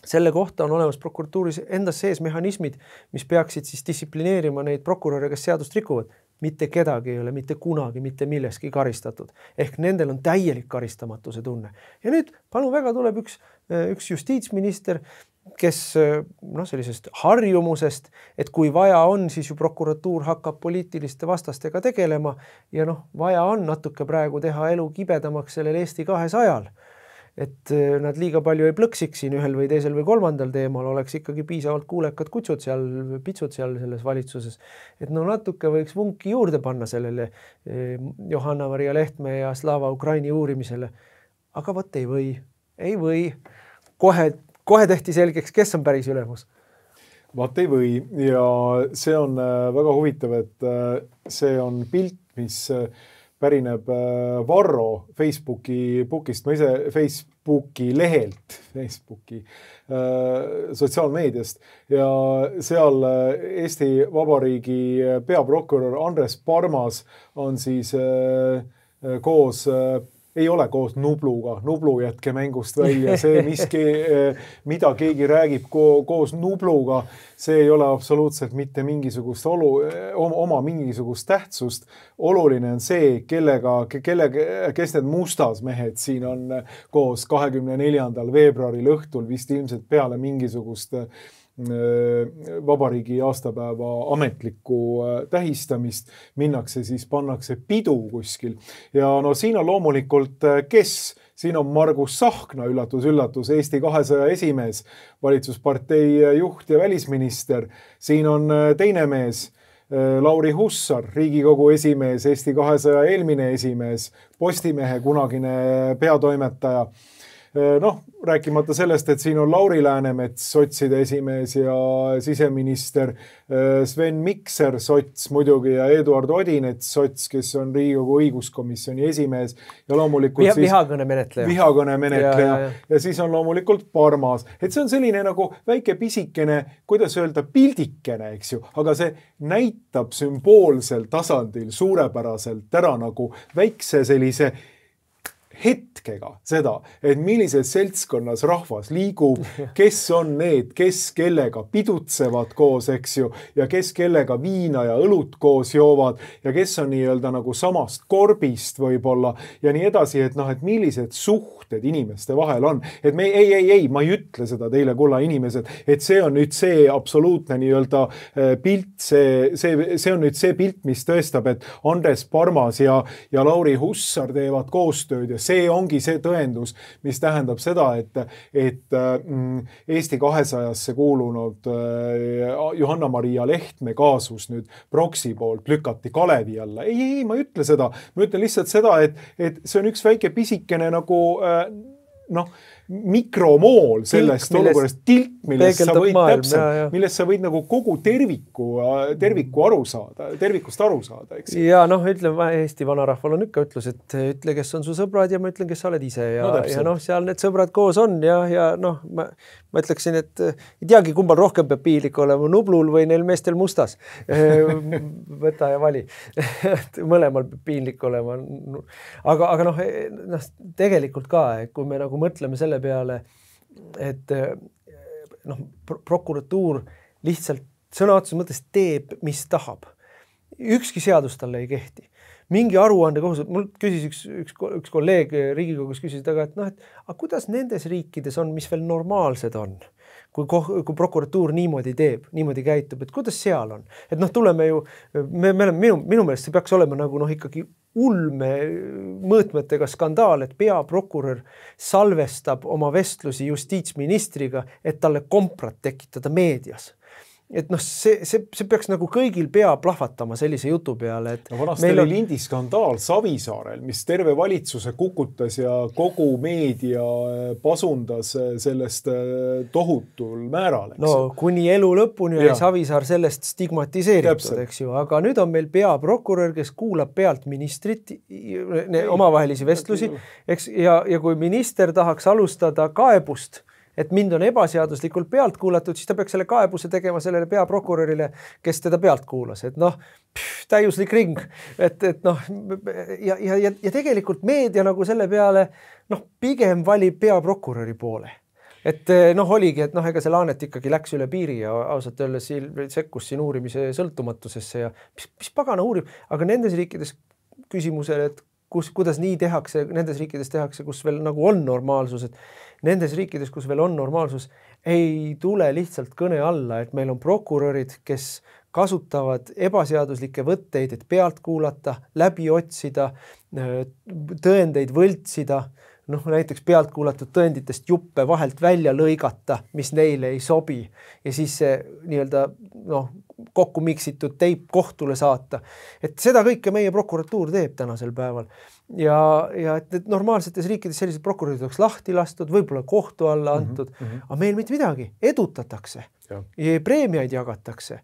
Selle kohta on olemas prokuratuuris endas sees mehhanismid, mis peaksid siis distsiplineerima neid prokuröre, kes seadust rikuvad. Mitte kedagi ei ole mitte kunagi, mitte milleski karistatud. Ehk nendel on täielik karistamatuse tunne. Ja nüüd palun väga tuleb üks, üks justiitsminister, kes noh, sellisest harjumusest, et kui vaja on, siis ju prokuratuur hakkab poliitiliste vastastega tegelema ja noh, vaja on natuke praegu teha elu kibedamaks sellel Eesti kahesajal. Et nad liiga palju ei plõksiks siin ühel või teisel või kolmandal teemal, oleks ikkagi piisavalt kuulekad kutsud seal, pitsud seal selles valitsuses. Et no natuke võiks vunki juurde panna sellele Johanna-Maria Lehtme ja Slava Ukraini uurimisele. Aga võt ei või, ei või. Kohe, kohe tehti selgeks, kes on päris ülemus. Vaat ei või ja see on väga huvitav, et see on pilt, mis pärineb Varro Facebooki bookist, ma ise Facebooki lehelt, Facebooki äh, sotsiaalmeediast ja seal Eesti Vabariigi peaprokurör Andres Parmas on siis äh, koos äh, ei ole koos Nubluga, Nublu jätke mängust välja, see miski, mida keegi räägib ko- koos Nubluga, see ei ole absoluutselt mitte mingisugust olu, oma mingisugust tähtsust. Oluline on see, kellega, kellega, kes need mustas mehed siin on koos kahekümne neljandal veebruaril õhtul vist ilmselt peale mingisugust vabariigi aastapäeva ametlikku tähistamist, minnakse siis, pannakse pidu kuskil. Ja no siin on loomulikult, kes siin on Margus Tsahkna, üllatus, üllatus, Eesti kahesaja esimees, valitsuspartei juht ja välisminister. Siin on teine mees, Lauri Hussar, Riigikogu esimees, Eesti kahesaja eelmine esimees, Postimehe kunagine peatoimetaja. Noh, rääkimata sellest, et siin on Lauri Läänemets, sotside esimees ja siseminister, Sven Mikser, sots muidugi ja Eduard Odinets, sots, kes on Riigikogu õiguskomisjoni esimees ja loomulikult Viha, vihakõne menetleja. Vihakõne menetleja ja, ja, ja. ja siis on loomulikult Parmas. Et see on selline nagu väike pisikene, kuidas öelda, pildikene, eks ju, aga see näitab sümboolsel tasandil suurepäraselt ära nagu väikse sellise hetkega seda, et millises seltskonnas rahvas liigub, kes on need, kes kellega pidutsevad koos, eks ju, ja kes kellega viina ja õlut koos joovad ja kes on nii-öelda nagu samast korbist võib-olla ja nii edasi, et noh, et millised suhted inimeste vahel on. Et me ei, ei, ei, ma ei ütle seda teile, kulla inimesed, et see on nüüd see absoluutne nii-öelda pilt, see, see, see on nüüd see pilt, mis tõestab, et Andres Parmas ja, ja Lauri Hussar teevad koostööd ja see ongi see tõendus, mis tähendab seda, et, et Eesti kahesajasse kuulunud Johanna-Maria Lehtme kaasus nüüd proksi poolt lükati Kalevi alla. Ei, ei, ma ei ütle seda. Ma ütlen lihtsalt seda, et, et see on üks väike pisikene nagu noh, mikromool sellest tilk, olukorrast, tilk, millest sa võid maailm, täpselt, ja, ja. millest sa võid nagu kogu terviku, terviku aru saada, tervikust aru saada, eks. Ja noh, ütlen, Eesti vanarahval on ikka ütlus, et ütle, kes on su sõbrad ja ma ütlen, kes sa oled ise ja no, ja noh, seal need sõbrad koos on ja, ja noh, ma, ma ütleksin, et ei teagi, kumbal rohkem peab piinlik olema, Nublul või neil meestel mustas. Võta ja vali. Mõlemal peab piinlik olema. Aga, aga noh, noh, tegelikult ka, kui me nagu mõtleme selle peale, et noh, prokuratuur lihtsalt sõna otseses mõttes teeb, mis tahab. Ükski seadus talle ei kehti. Mingi aruande kohus, mul küsis üks, üks, üks kolleeg Riigikogus küsis taga, et noh, et aga kuidas nendes riikides on, mis veel normaalsed on, kui, kui prokuratuur niimoodi teeb, niimoodi käitub, et kuidas seal on? Et noh, tuleme ju, me, me oleme, minu, minu meelest see peaks olema nagu noh, ikkagi ulme mõõtmetega skandaal, et peaprokurör salvestab oma vestlusi justiitsministriga, et talle komprat tekitada meedias. Et noh, see, see, see peaks nagu kõigil pea plahvatama sellise jutu peale. Et no vanasti oli on... lindiskandaal Savisaarel, mis terve valitsuse kukutas ja kogu meedia pasundas sellest tohutul määral. Eks? No kuni elu lõpuni oli Savisaar sellest stigmatiseeritud, eks ju. Aga nüüd on meil peaprokurör, kes kuulab pealt ministrit, ne, omavahelisi vestlusi, eks, ja, ja kui minister tahaks alustada kaebust, et mind on ebaseaduslikult pealt kuulatud, siis ta peaks selle kaebuse tegema sellele peaprokurörile, kes teda pealt kuulas. Et noh, pff, täiuslik ring. Et, et noh, ja, ja, ja tegelikult meedia nagu selle peale noh, pigem valib peaprokuröri poole. Et noh, oligi, et noh, ega see Laanet ikkagi läks üle piiri ja ausalt öeldes sekkus siin uurimise sõltumatusesse ja mis, mis pagana uurib, aga nendes riikides küsimusele, et kus, kuidas nii tehakse, nendes riikides tehakse, kus veel nagu on normaalsus, et nendes riikides, kus veel on normaalsus, ei tule lihtsalt kõne alla, et meil on prokurörid, kes kasutavad ebaseaduslikke võtteid, et pealt kuulata, läbi otsida, tõendeid võltsida, noh, näiteks pealt kuulatud tõenditest juppe vahelt välja lõigata, mis neile ei sobi ja siis see nii-öelda noh, kokku miksitud teip kohtule saata. Et seda kõike meie prokuratuur teeb tänasel päeval. Ja, ja et, et normaalsetes riikides sellised prokurörid oleks lahti lastud, võib-olla kohtu alla antud, mm -hmm. aga meil mitte midagi, edutatakse. Ja. Ja preemiaid jagatakse.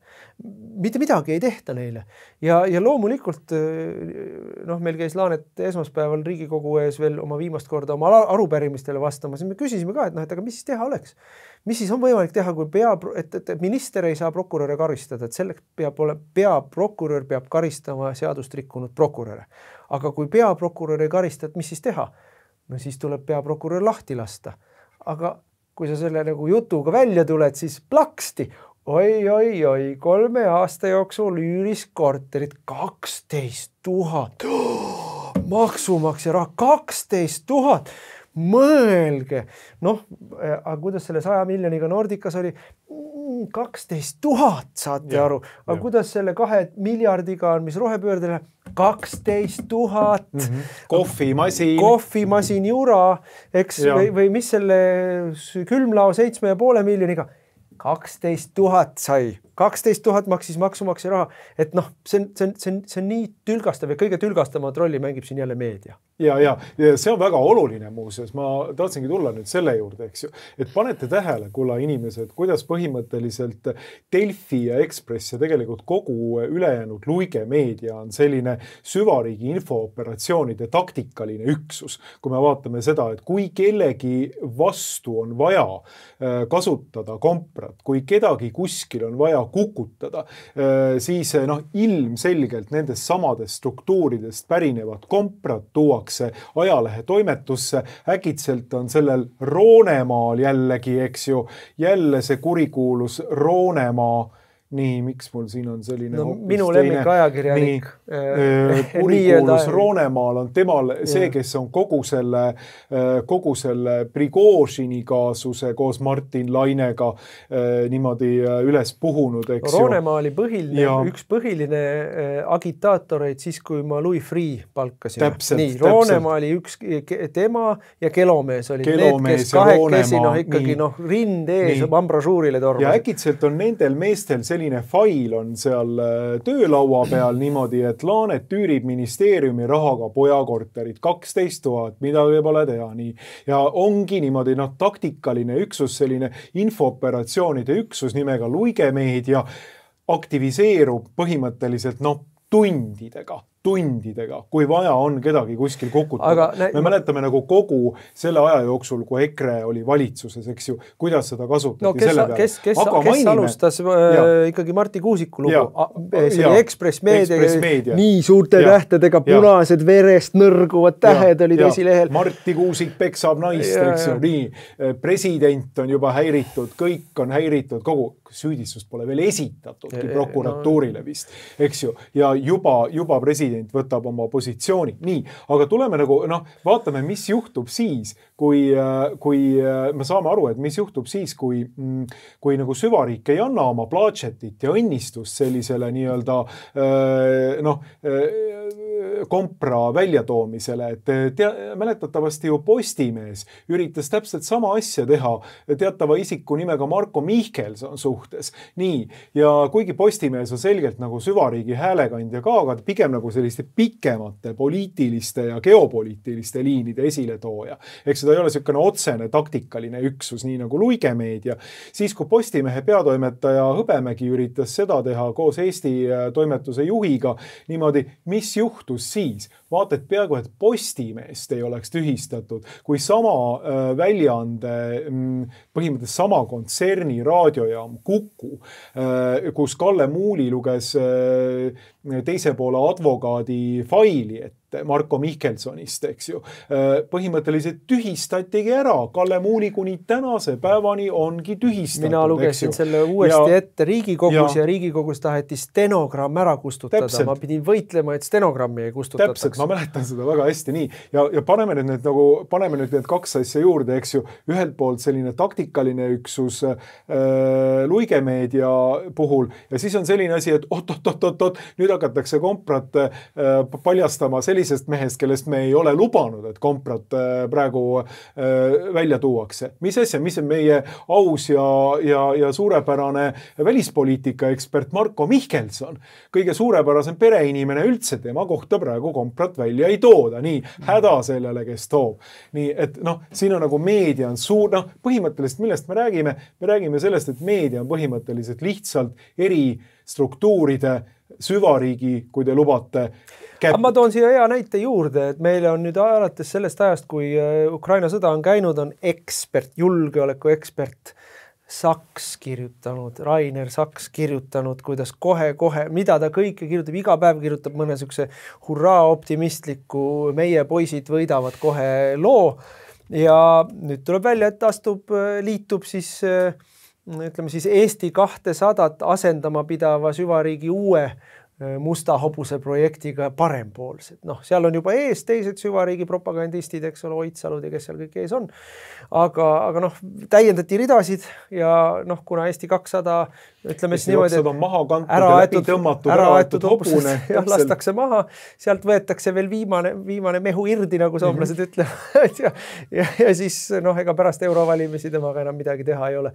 Mitte midagi ei tehta neile. Ja, ja loomulikult noh, meil käis Laanet esmaspäeval Riigikogu ees veel oma viimast korda oma arupärimistele vastama, siis me küsisime ka, et noh, et aga mis siis teha oleks? Mis siis on võimalik teha, kui pea, et, et minister ei saa prokuröre karistada, et selleks peab olema, peaprokurör peab karistama seadust rikkunud prokuröre. Aga kui peaprokurör ei karista, et mis siis teha? No siis tuleb peaprokurör lahti lasta. Aga kui sa selle nagu jutuga välja tuled, siis plaksti. Oi, oi, oi, kolme aasta jooksul üüris korterit kaksteist tuhat. Maksumaksja raha kaksteist tuhat. Mõelge. Noh, aga kuidas selle saja miljoniga Nordicas oli? kaksteist tuhat, saate ja, aru, aga ja. Kuidas selle kahe miljardiga on, mis rohepöördele, kaksteist tuhat. Mm-hmm. Kohvimasin. Kohvimasin jura, eks, või, või mis selle külmlao seitsme ja poole miljoniga, kaksteist tuhat sai. kaksteist tuhat maksis maksumaksja raha, et noh, see on, see on, see on, see on nii tülgastav ja kõige tülgastavat rolli mängib siin jälle meedia. Ja, ja, ja see on väga oluline muuseas, ma tahtsingi tulla nüüd selle juurde, eks ju, et panete tähele, kulla inimesed, kuidas põhimõtteliselt Delfi ja Ekspress ja tegelikult kogu ülejäänud Luige meedia on selline süvariigi infooperatsioonide taktikaline üksus. Kui me vaatame seda, et kui kellegi vastu on vaja kasutada komprat, kui kedagi kuskil on vaja kukutada, siis noh, ilmselgelt nendest samadest struktuuridest pärinevad komprad tuuakse ajalehe toimetusse, äkitselt on sellel Roonemaal jällegi, eks ju, jälle see kurikuulus Roonemaa. Nii, miks mul siin on selline no, minu lemmik ajakirjanik kurikuulus Roonemaal on temal see, kes on kogu selle, kogu selle Prigožini kaasuse koos Martin Lainega niimoodi üles puhunud. Eks Roonemaa oli põhiline, ja, üks põhiline agitaatoreid siis, kui ma Louis Freeh palkasin. Täpselt, nii, Roonemaa oli üks tema ja Kelomees oli Kelomees need, kes kahekesi noh, ikkagi noh, rind ees ambrasuurile tormas. Ja äkitselt on nendel meestel selline selline fail on seal töölaua peal niimoodi, et Laanet tüürib ministeeriumi rahaga pojakorterid kaksteist tuhat, midagi pole teha nii. Ja ongi niimoodi noh, taktikaline üksus, selline infooperatsioonide üksus nimega Luige meedia aktiviseerub põhimõtteliselt noh, tundidega. tundidega, kui vaja on kedagi kuskil kukutada. Aga, me mäletame nagu kogu selle aja jooksul, kui EKRE oli valitsuses, eks ju, kuidas seda kasutati no, kes, selle peale. Kes, kes, kes mainime, alustas äh, ikkagi Marti Kuusiku lugu? See oli Ekspress meedia, meedia, nii suurte ja, tähtedega, punased ja, verest nõrguvad tähed ja, olid ja, esilehel. Marti Kuusik peksab naist, ja, eks ju, nii. President on juba häiritud, kõik on häiritud, kogu süüdistust pole veel esitatudki prokuratuurile vist, eks ju, ja juba, juba president võtab oma positsiooni. Nii, aga tuleme nagu, noh, vaatame, mis juhtub siis, kui, kui me saame aru, et mis juhtub siis, kui, kui nagu süvariik ei anna oma plaatšetit ja õnnistust sellisele nii-öelda, noh, kompra väljatoomisele, et tea, mäletatavasti ju Postimees üritas täpselt sama asja teha teatava isiku nimega Marko Mihkelson suhtes. Nii, ja kuigi Postimees on selgelt nagu süvariigi häälekandja ka, aga pigem nagu selliste pikemate poliitiliste ja geopoliitiliste liinide esiletooja. Eks seda ei ole selline otsene taktikaline üksus, nii nagu Luige meedia. Siis, kui Postimehe peatoimetaja Hõbemägi üritas seda teha koos Eesti toimetuse juhiga, niimoodi, mis juhtus siis? Vaata, et peaaegu, et Postimeest ei oleks tühistatud, kui sama väljaande, põhimõtteliselt sama kontserni raadiojaam Kuku, kus Kalle Muuli luges teise poole advokaadi faili, et Marko Mihkelsonist, eks ju. Põhimõtteliselt tühistatigi ära. Kalle Muuli kuni tänase päevani ongi tühistatud. Mina lugesin selle uuesti ja, ette Riigikogus ja, ja Riigikogus taheti stenogramm ära kustutada. Täpselt. Ma pidin võitlema, et stenogrammi ei kustutataks. Täpselt, ma mäletan seda väga hästi nii. Ja, ja paneme nüüd need, nagu, paneme nüüd need kaks asja juurde, eks ju. Ühelt poolt selline taktikaline üksus äh, Luige meedia puhul ja siis on selline asi, et ot, ot, ot, ot, ot, nüüd hakatakse komprat äh, paljastama selline sellisest mehest, kellest me ei ole lubanud, et komprat praegu välja tuuakse. Mis asja, mis on meie aus ja, ja, ja suurepärane välispoliitika ekspert Marko Mihkelson. Kõige suurepärasem pereinimene üldse, tema kohta praegu komprat välja ei tooda. Nii, häda sellele, kes toob. Nii, et noh, siin on nagu meedia on suur, noh, põhimõtteliselt millest me räägime? Me räägime sellest, et meedia on põhimõtteliselt lihtsalt eri struktuuride süvariigi, kui te lubate. Käp... Ma toon siia hea näite juurde, et meile on nüüd alates sellest ajast, kui Ukraina sõda on käinud, on ekspert, julgeoleku ekspert Saks kirjutanud, Rainer Saks kirjutanud, kuidas kohe-kohe, mida ta kõike kirjutab, iga päev kirjutab mõne sükse hurraa optimistliku, meie poisid võidavad kohe loo ja nüüd tuleb välja, et astub, liitub siis ütleme siis Eesti kahtesadat asendama pidava süvariigi uue musta hobuse projektiga parempoolsed. Noh, seal on juba ees teised süvariigi propagandistid, eks ole, Oitsalud ja kes seal kõik ees on. Aga, aga noh, täiendati ridasid ja noh, kuna Eesti kakssada, ütleme siis niimoodi, et maha kantud ja läbi tõmmatud, ära aetud hobune. Ja lastakse maha, sealt võetakse veel viimane, viimane mehu irdi, nagu soomlased mm-hmm. ütlevad. ja, ja, ja siis noh, ega pärast eurovalimisi temaga enam midagi teha ei ole.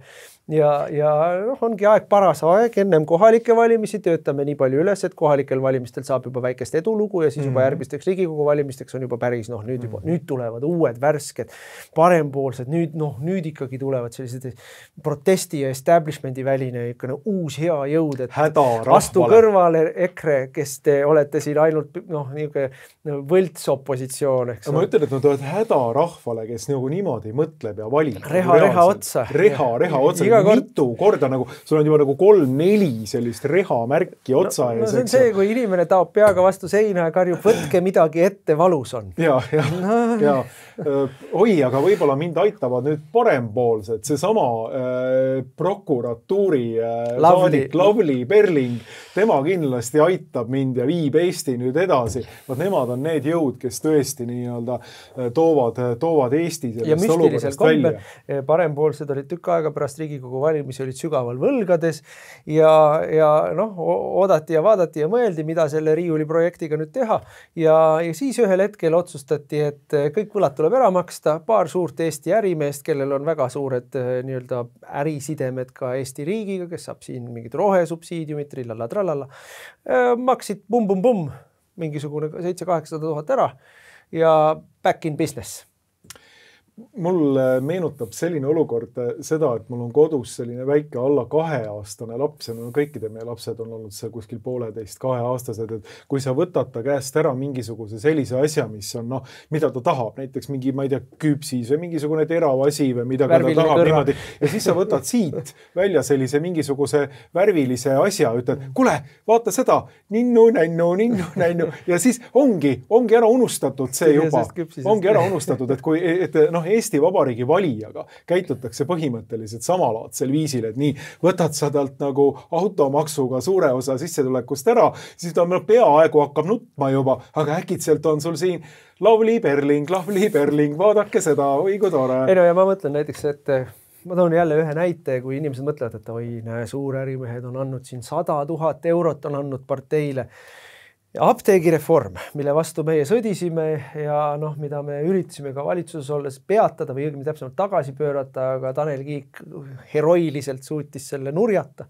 Ja, ja noh, ongi aeg paras aeg, ennem kohalike valimisi töötame nii palju üles, et kohalikel valimistel saab juba väikest edulugu ja siis juba järgmisteks Riigikogu valimisteks on juba päris, noh, nüüd juba, nüüd tulevad uued värsked, parempoolsed, nüüd, noh, nüüd ikkagi tulevad sellised protesti ja establishmendi väline ikka uus hea jõud, et häda vastu kõrvale EKRE, kes te olete siin ainult, noh, niisugune võlts opositsioon, eks. Ma ütlen, et nad oled häda rahvale, kes nagu niimoodi mõtleb ja valib. Reha, reha otsa. Reha, reha otsa. Mitu korda nagu, sul on juba nagu kolm-neli sellist reha märki otsa. No, no see on see, kui inimene taob peaga vastu seina ja karjub, võtke midagi ette, valus on. Ja, ja, no. ja. Oi, aga võib-olla mind aitavad nüüd parempoolsed. Seesama äh, prokuratuuri äh, saadik Lavly Perling, tema kindlasti aitab mind ja viib Eesti nüüd edasi. Vaat nemad on need jõud, kes tõesti nii-öelda toovad, toovad Eesti sellest olukorrast välja. Parempoolsed olid tükk aega pärast Riigikogu valimisi olid sügaval võlgades ja, ja noh, oodati ja vaadati ja mõeldi, mida selle Riiuli projektiga nüüd teha. Ja, ja siis ühel hetkel otsustati, et kõik võlad tuleb ära maksta, paar suurt Eesti ärimeest, kellel on väga suured nii-öelda ärisidemed ka Eesti riigiga, kes saab siin mingid rohesubsiidiumid, trillala, trallala, maksid bum-bum-bum mingisugune seitse-kaheksasada tuhat ära ja back in business. Mul meenutab selline olukord seda, et mul on kodus selline väike alla kaheaastane laps ja no kõikide meie lapsed on olnud see kuskil pooleteist kaheaastased, et kui sa võtad ta käest ära mingisuguse sellise asja, mis on noh, mida ta tahab, näiteks mingi, ma ei tea, küpsis või mingisugune teravasi või mida ta tahab niimoodi ja siis sa võtad siit välja sellise mingisuguse värvilise asja, ütled, kule, vaata seda, ninnu, nännu, ninnu, nännu ja siis ongi, ongi ära unustatud see juba, ongi ära unustatud, et kui, et noh, Eesti Vabariigi valijaga käitutakse põhimõtteliselt samalaadsel viisil, et nii võtad sa talt nagu automaksuga suure osa sissetulekust ära, siis ta peaaegu hakkab nutma juba, aga äkitselt on sul siin Lavly Perling, Lavly Perling, vaadake seda, oi kui tore. Ei no ja ma mõtlen näiteks, et ma toon jälle ühe näite, kui inimesed mõtlevad, et oi, näe, suurärimehed on andnud siin sada tuhat eurot on andnud parteile. Apteegireform, mille vastu meie sõdisime ja noh, mida me üritasime ka valitsuses olles peatada või õigemini täpsemalt tagasi pöörata, aga Tanel Kiik heroiliselt suutis selle nurjata.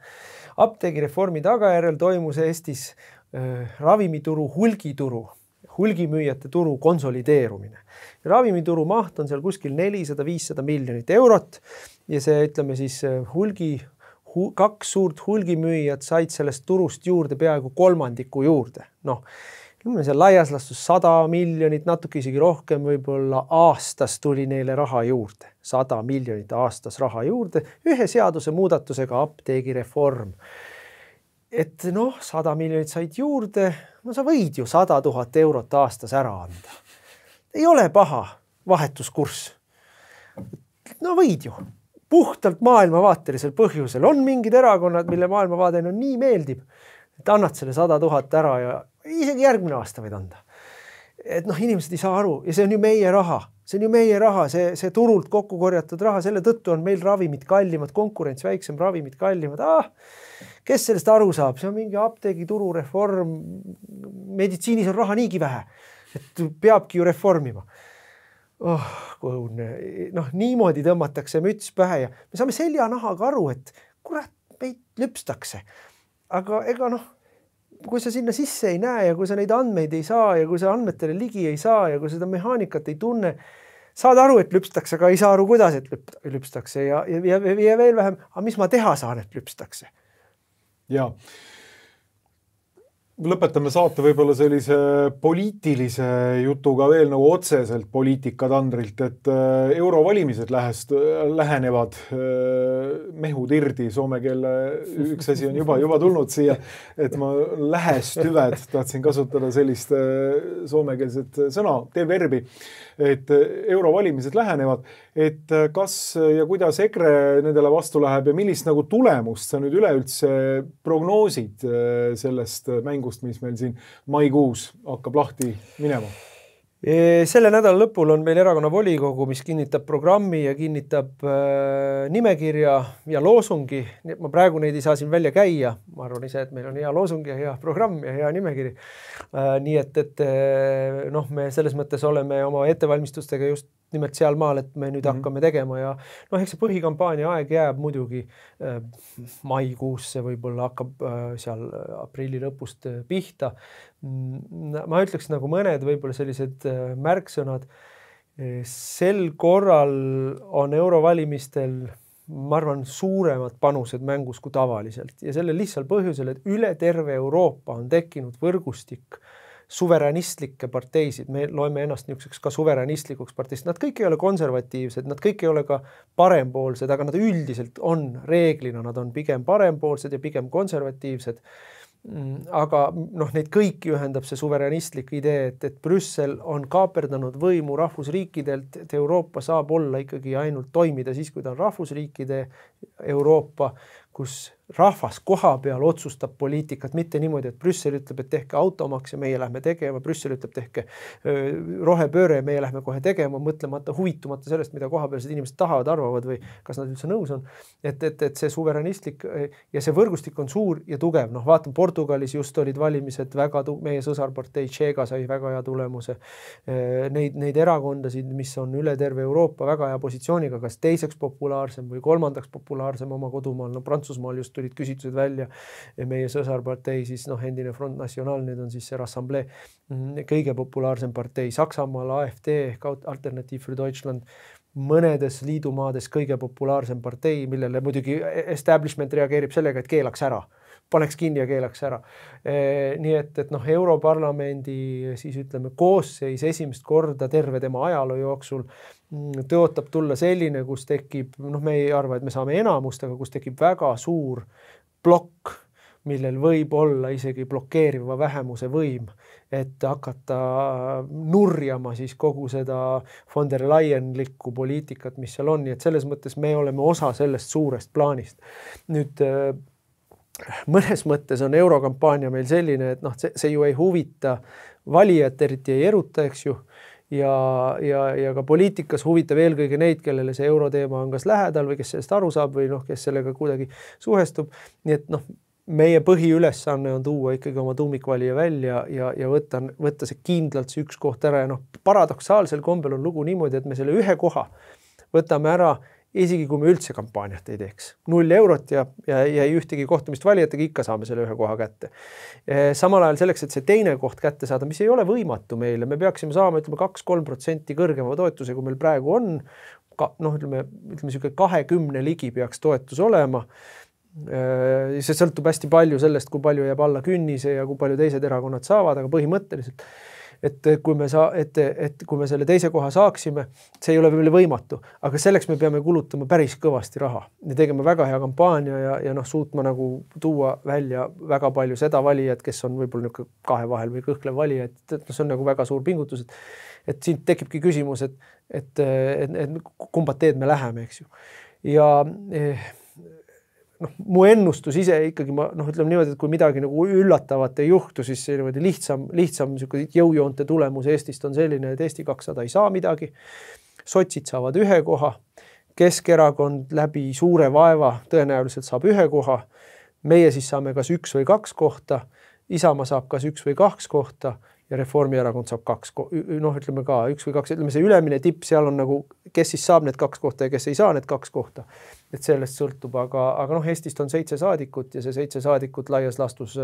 Apteegireformi tagajärjel toimus Eestis äh, ravimituru hulgituru, hulgimüüjate turu konsolideerumine. Ravimituru maht on seal kuskil nelisada viissada miljonit eurot ja see, ütleme siis, hulgi kaks suurt hulgimüüjat said sellest turust juurde peaaegu kolmandiku juurde. Noh, seal laias lastus sada miljonit, natuke isegi rohkem, võib-olla aastas tuli neile raha juurde. sada miljonit aastas raha juurde, ühe seaduse muudatusega apteegireform. Et noh, sada miljonit said juurde, no sa võid ju sada tuhat eurot aastas ära anda. Ei ole paha vahetuskurss. No võid ju. Puhtalt maailmavaatelisel põhjusel. On mingid erakonnad, mille maailmavaade on nii meeldib, et annad selle sada tuhat ära ja isegi järgmine aasta võid anda. Et noh, inimesed ei saa aru ja see on ju meie raha. See on ju meie raha, see, see turult kokku korjatud raha, selle tõttu on meil ravimid kallimad, konkurents väiksem, ravimid kallimad. Ah, kes sellest aru saab? See on mingi apteegituru reform. Meditsiinis on raha niigi vähe, et peabki ju reformima. Oh, kuhune. Noh, niimoodi tõmmatakse müts pähe ja me saame seljanahaga aru, et kurat, meid lüpstakse. Aga ega noh, kui sa sinna sisse ei näe ja kui sa neid andmeid ei saa ja kui sa andmetele ligi ei saa ja kui seda mehaanikat ei tunne, saad aru, et lüpstakse, aga ei saa aru, kuidas et lüpstakse ja, ja, ja, ja veel vähem, aga mis ma teha saan, et lüpstakse? Jaa. Lõpetame saate võib-olla sellise poliitilise jutuga veel nagu otseselt poliitikatandrilt, et eurovalimised lähest, lähenevad mehud irdi, soome keele üks asi on juba, juba tulnud siia, et ma lähestüved, tahtsin kasutada sellist soomekeelset sõna, teeb verbi. et eurovalimised lähenevad, et kas ja kuidas EKRE nendele vastu läheb ja millist nagu tulemust sa nüüd üleüldse prognoosid sellest mängust, mis meil siin maikuus hakkab lahti minema? Selle nädala lõpul on meil erakonna volikogu, mis kinnitab programmi ja kinnitab äh, nimekirja ja loosungi. Ma praegu neid ei saa siin välja käia. Ma arvan ise, et meil on hea loosung ja hea programm ja hea nimekiri. Äh, nii et, et noh, me selles mõttes oleme oma ettevalmistustega just nimelt seal maal, et me nüüd mm-hmm. hakkame tegema ja noh, eks see põhikampaania aeg jääb muidugi äh, maikuusse, võib-olla hakkab äh, seal aprilli lõpust äh, pihta. Ma ütleks nagu mõned võib-olla sellised äh, märksõnad. Sel korral on eurovalimistel, ma arvan, suuremad panused mängus kui tavaliselt ja selle lihtsal põhjusel, et üle terve Euroopa on tekkinud võrgustik suveräänistlikke parteisid, me loeme ennast niisuguseks ka suveräänistlikuks parteist, nad kõik ei ole konservatiivsed, nad kõik ei ole ka parempoolsed, aga nad üldiselt on reeglina, nad on pigem parempoolsed ja pigem konservatiivsed. Aga noh, neid kõiki ühendab see suveräänistlik idee, et, et Brüssel on kaaperdanud võimu rahvusriikidelt, et Euroopa saab olla ikkagi ainult toimida siis, kui ta on rahvusriikide Euroopa, kus rahvas koha peal otsustab poliitikat, mitte niimoodi, et Brüssel ütleb, et tehke automaks ja meie lähme tegema, Brüssel ütleb, tehke rohepööre ja meie lähme kohe tegema, mõtlemata, huvitumata sellest, mida kohapealsed inimesed tahavad, arvavad või kas nad üldse nõus on. Et, et, et see suveräänistlik ja see võrgustik on suur ja tugev. Noh, vaatan, Portugalis just olid valimised väga, meie sõsarpartei Tšeega sai väga hea tulemuse. Neid, neid erakondasid, mis on üle terve Euroopa väga hea positsiooniga, kas teiseks populaarsem või kolmandaks populaarsem oma kodumaal, no Prantsusmaal just tulid küsitlused välja ja meie sõsarpartei, siis noh, endine Front National, nüüd on siis see Rassemblee kõige populaarsem partei. Saksamaal A F D ehk Alternative für Deutschland, mõnedes liidumaades kõige populaarsem partei, millele muidugi establishment reageerib sellega, et keelaks ära. Paneks kinni ja keelaks ära. E, nii et, et noh, Europarlamendi siis ütleme koosseis esimest korda terve tema ajaloo jooksul tõotab tulla selline, kus tekib, noh, me ei arva, et me saame enamust, aga kus tekib väga suur plokk, millel võib olla isegi blokeeriva vähemuse võim, et hakata nurjama siis kogu seda von der Leyenlikku poliitikat, mis seal on, nii et selles mõttes me oleme osa sellest suurest plaanist. Nüüd mõnes mõttes on eurokampaania meil selline, et noh, see, see ju ei huvita valijat, eriti ei eruta, eks ju, ja, ja, ja ka poliitikas huvitab eelkõige neid, kellele see euroteema on kas lähedal või kes sellest aru saab või noh, kes sellega kuidagi suhestub. Nii et noh, meie põhiülesanne on tuua ikkagi oma tuumikvalija välja ja, ja võtta, võtta see kindlalt see üks koht ära ja noh, paradoksaalsel kombel on lugu niimoodi, et me selle ühe koha võtame ära isegi kui me üldse kampaaniat ei teeks. Null eurot ja, ja, ja ei ühtegi kohtumist valijatega, ikka saame selle ühe koha kätte. Samal ajal selleks, et see teine koht kätte saada, mis ei ole võimatu meile, me peaksime saama ütleme kaks-kolm protsenti kõrgema toetuse, kui meil praegu on. Ka, noh, ütleme, ütleme siuke kahekümne ligi peaks toetus olema. See sõltub hästi palju sellest, kui palju jääb alla künnise ja kui palju teised erakonnad saavad, aga põhimõtteliselt et kui me saa, et, et kui me selle teise koha saaksime, see ei ole veel võimatu, aga selleks me peame kulutama päris kõvasti raha ja tegema väga hea kampaania ja, ja noh, suutma nagu tuua välja väga palju seda valijat, kes on võib-olla niisugune kahe vahel või kõhklev valija, et, et see on nagu väga suur pingutus, et, et siin tekibki küsimus, et, et, et, et kumba teed me läheme, eks ju. Ja eh, noh, mu ennustus ise ikkagi, ma noh, ütleme niimoodi, et kui midagi nagu üllatavat ei juhtu, siis see niimoodi lihtsam, lihtsam jõujoonte tulemus Eestist on selline, et Eesti kakssada ei saa midagi. Sotsid saavad ühe koha, Keskerakond läbi suure vaeva tõenäoliselt saab ühe koha, meie siis saame kas üks või kaks kohta, Isamaa saab kas üks või kaks kohta ja Reformierakond saab kaks, noh, ütleme ka üks või kaks, ütleme see ülemine tipp, seal on nagu, kes siis saab need kaks kohta ja kes ei saa need kaks kohta. Et sellest sõltub, aga, aga noh, Eestist on seitse saadikut ja see seitse saadikut laias lastus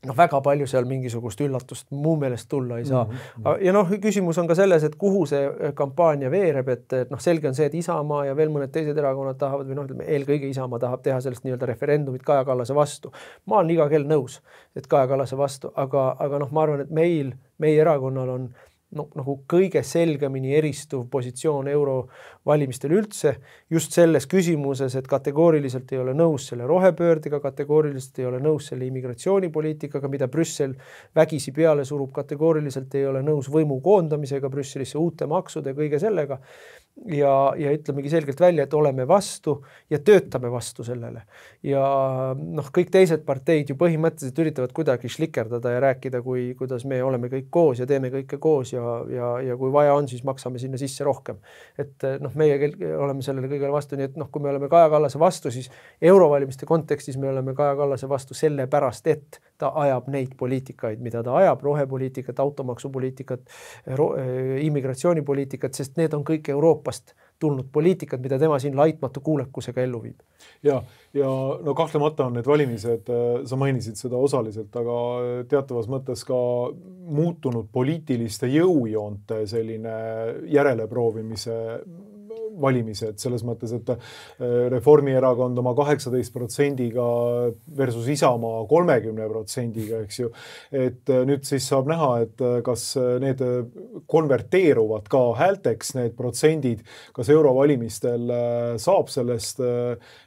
noh, väga palju seal mingisugust üllatust muu meelest tulla ei saa. Mm-hmm. Ja noh, küsimus on ka selles, et kuhu see kampaania veereb, et, et noh, selge on see, et Isamaa ja veel mõned teised erakonnad tahavad või noh, ütleme, eelkõige Isamaa tahab teha sellest nii-öelda referendumit Kaja Kallase vastu. Ma olen iga kell nõus, et Kaja Kallase vastu, aga, aga noh, ma arvan, et meil, meie erakonnal on no, nagu kõige selgemini eristuv positsioon eurovalimistel üldse, just selles küsimuses, et kategooriliselt ei ole nõus selle rohepöördega, kategooriliselt ei ole nõus selle immigratsioonipoliitikaga, mida Brüssel vägisi peale surub, kategooriliselt ei ole nõus võimu koondamisega Brüsselisse, uute maksude, kõige sellega. Ja, ja ütlemegi selgelt välja, et oleme vastu ja töötame vastu sellele. Ja noh, kõik teised parteid ju põhimõtteliselt üritavad kuidagi šlikerdada ja rääkida, kui, kuidas me oleme kõik koos ja teeme kõike koos ja, ja, ja kui vaja on, siis maksame sinna sisse rohkem. Et noh, meie oleme sellele kõigele vastu, nii et noh, kui me oleme Kaja Kallase vastu, siis eurovalimiste kontekstis me oleme Kaja Kallase vastu selle pärast, et ta ajab neid poliitikaid, mida ta ajab, rohepoliitikat, automaksupoliitikat, immigratsioonipoliitikat, sest need on kõik Euroopa tulnud poliitikat, mida tema siin laitmatu kuulekusega ellu viib. Ja, ja no kahtlemata on need valimised, sa mainisid seda osaliselt, aga teatavas mõttes ka muutunud poliitiliste jõujoonte selline järeleproovimise valimised, selles mõttes, et Reformierakond oma kaheksateist protsendiga versus Isamaa kolmekümne protsendiga, eks ju. Et nüüd siis saab näha, et kas need konverteeruvad ka häälteks, need protsendid, kas eurovalimistel saab sellest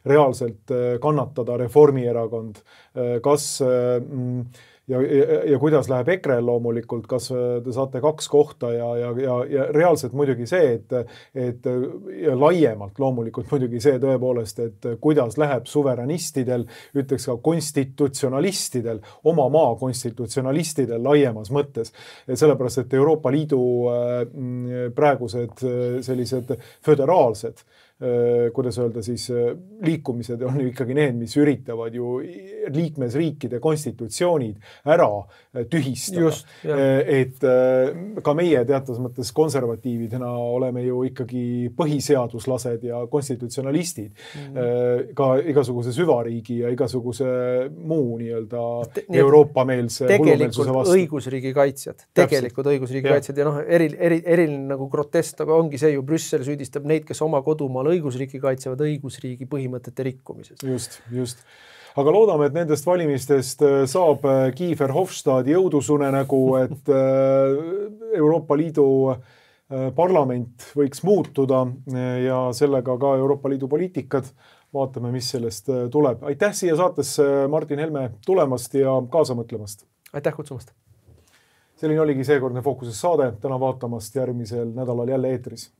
reaalselt kannatada Reformierakond, kas Ja, ja, ja kuidas läheb EKRE loomulikult, kas te saate kaks kohta ja, ja, ja, ja reaalselt muidugi see, et, et ja laiemalt loomulikult muidugi see tõepoolest, et kuidas läheb suveranistidel, ütleks ka konstitutsionalistidel, oma maa konstitutsionalistidel laiemas mõttes. Sellepärast, et Euroopa Liidu praegused sellised föderaalsed kuidas öelda siis liikumised on ju ikkagi need, mis üritavad ju liikmesriikide konstitutsioonid ära tühistada. Just, et ka meie teatas mõttes konservatiividena oleme ju ikkagi põhiseaduslased ja konstitutsionalistid. Mm-hmm. Ka igasuguse süvariigi ja igasuguse muu nii-öelda Euroopa-meelse tegelikult õigusriigi kaitsjad. Tegelikult õigusriigi ja. kaitsjad ja noh, eril, eril, eril nagu grotest, aga ongi see ju Brüssel süüdistab neid, kes oma kodumaal õigusriiki kaitsevad õigusriigi põhimõtete rikkumises. Just, just. Aga loodame, et nendest valimistest saab Kiefer Hofstad jõudusunenägu, et Euroopa Liidu parlament võiks muutuda ja sellega ka Euroopa Liidu poliitikad. Vaatame, mis sellest tuleb. Aitäh siia saatesse Martin Helme tulemast ja kaasa mõtlemast. Aitäh kutsumast. Selline oligi seekordne Fookuses saade. Täna vaatamast järgmisel nädalal jälle eetris.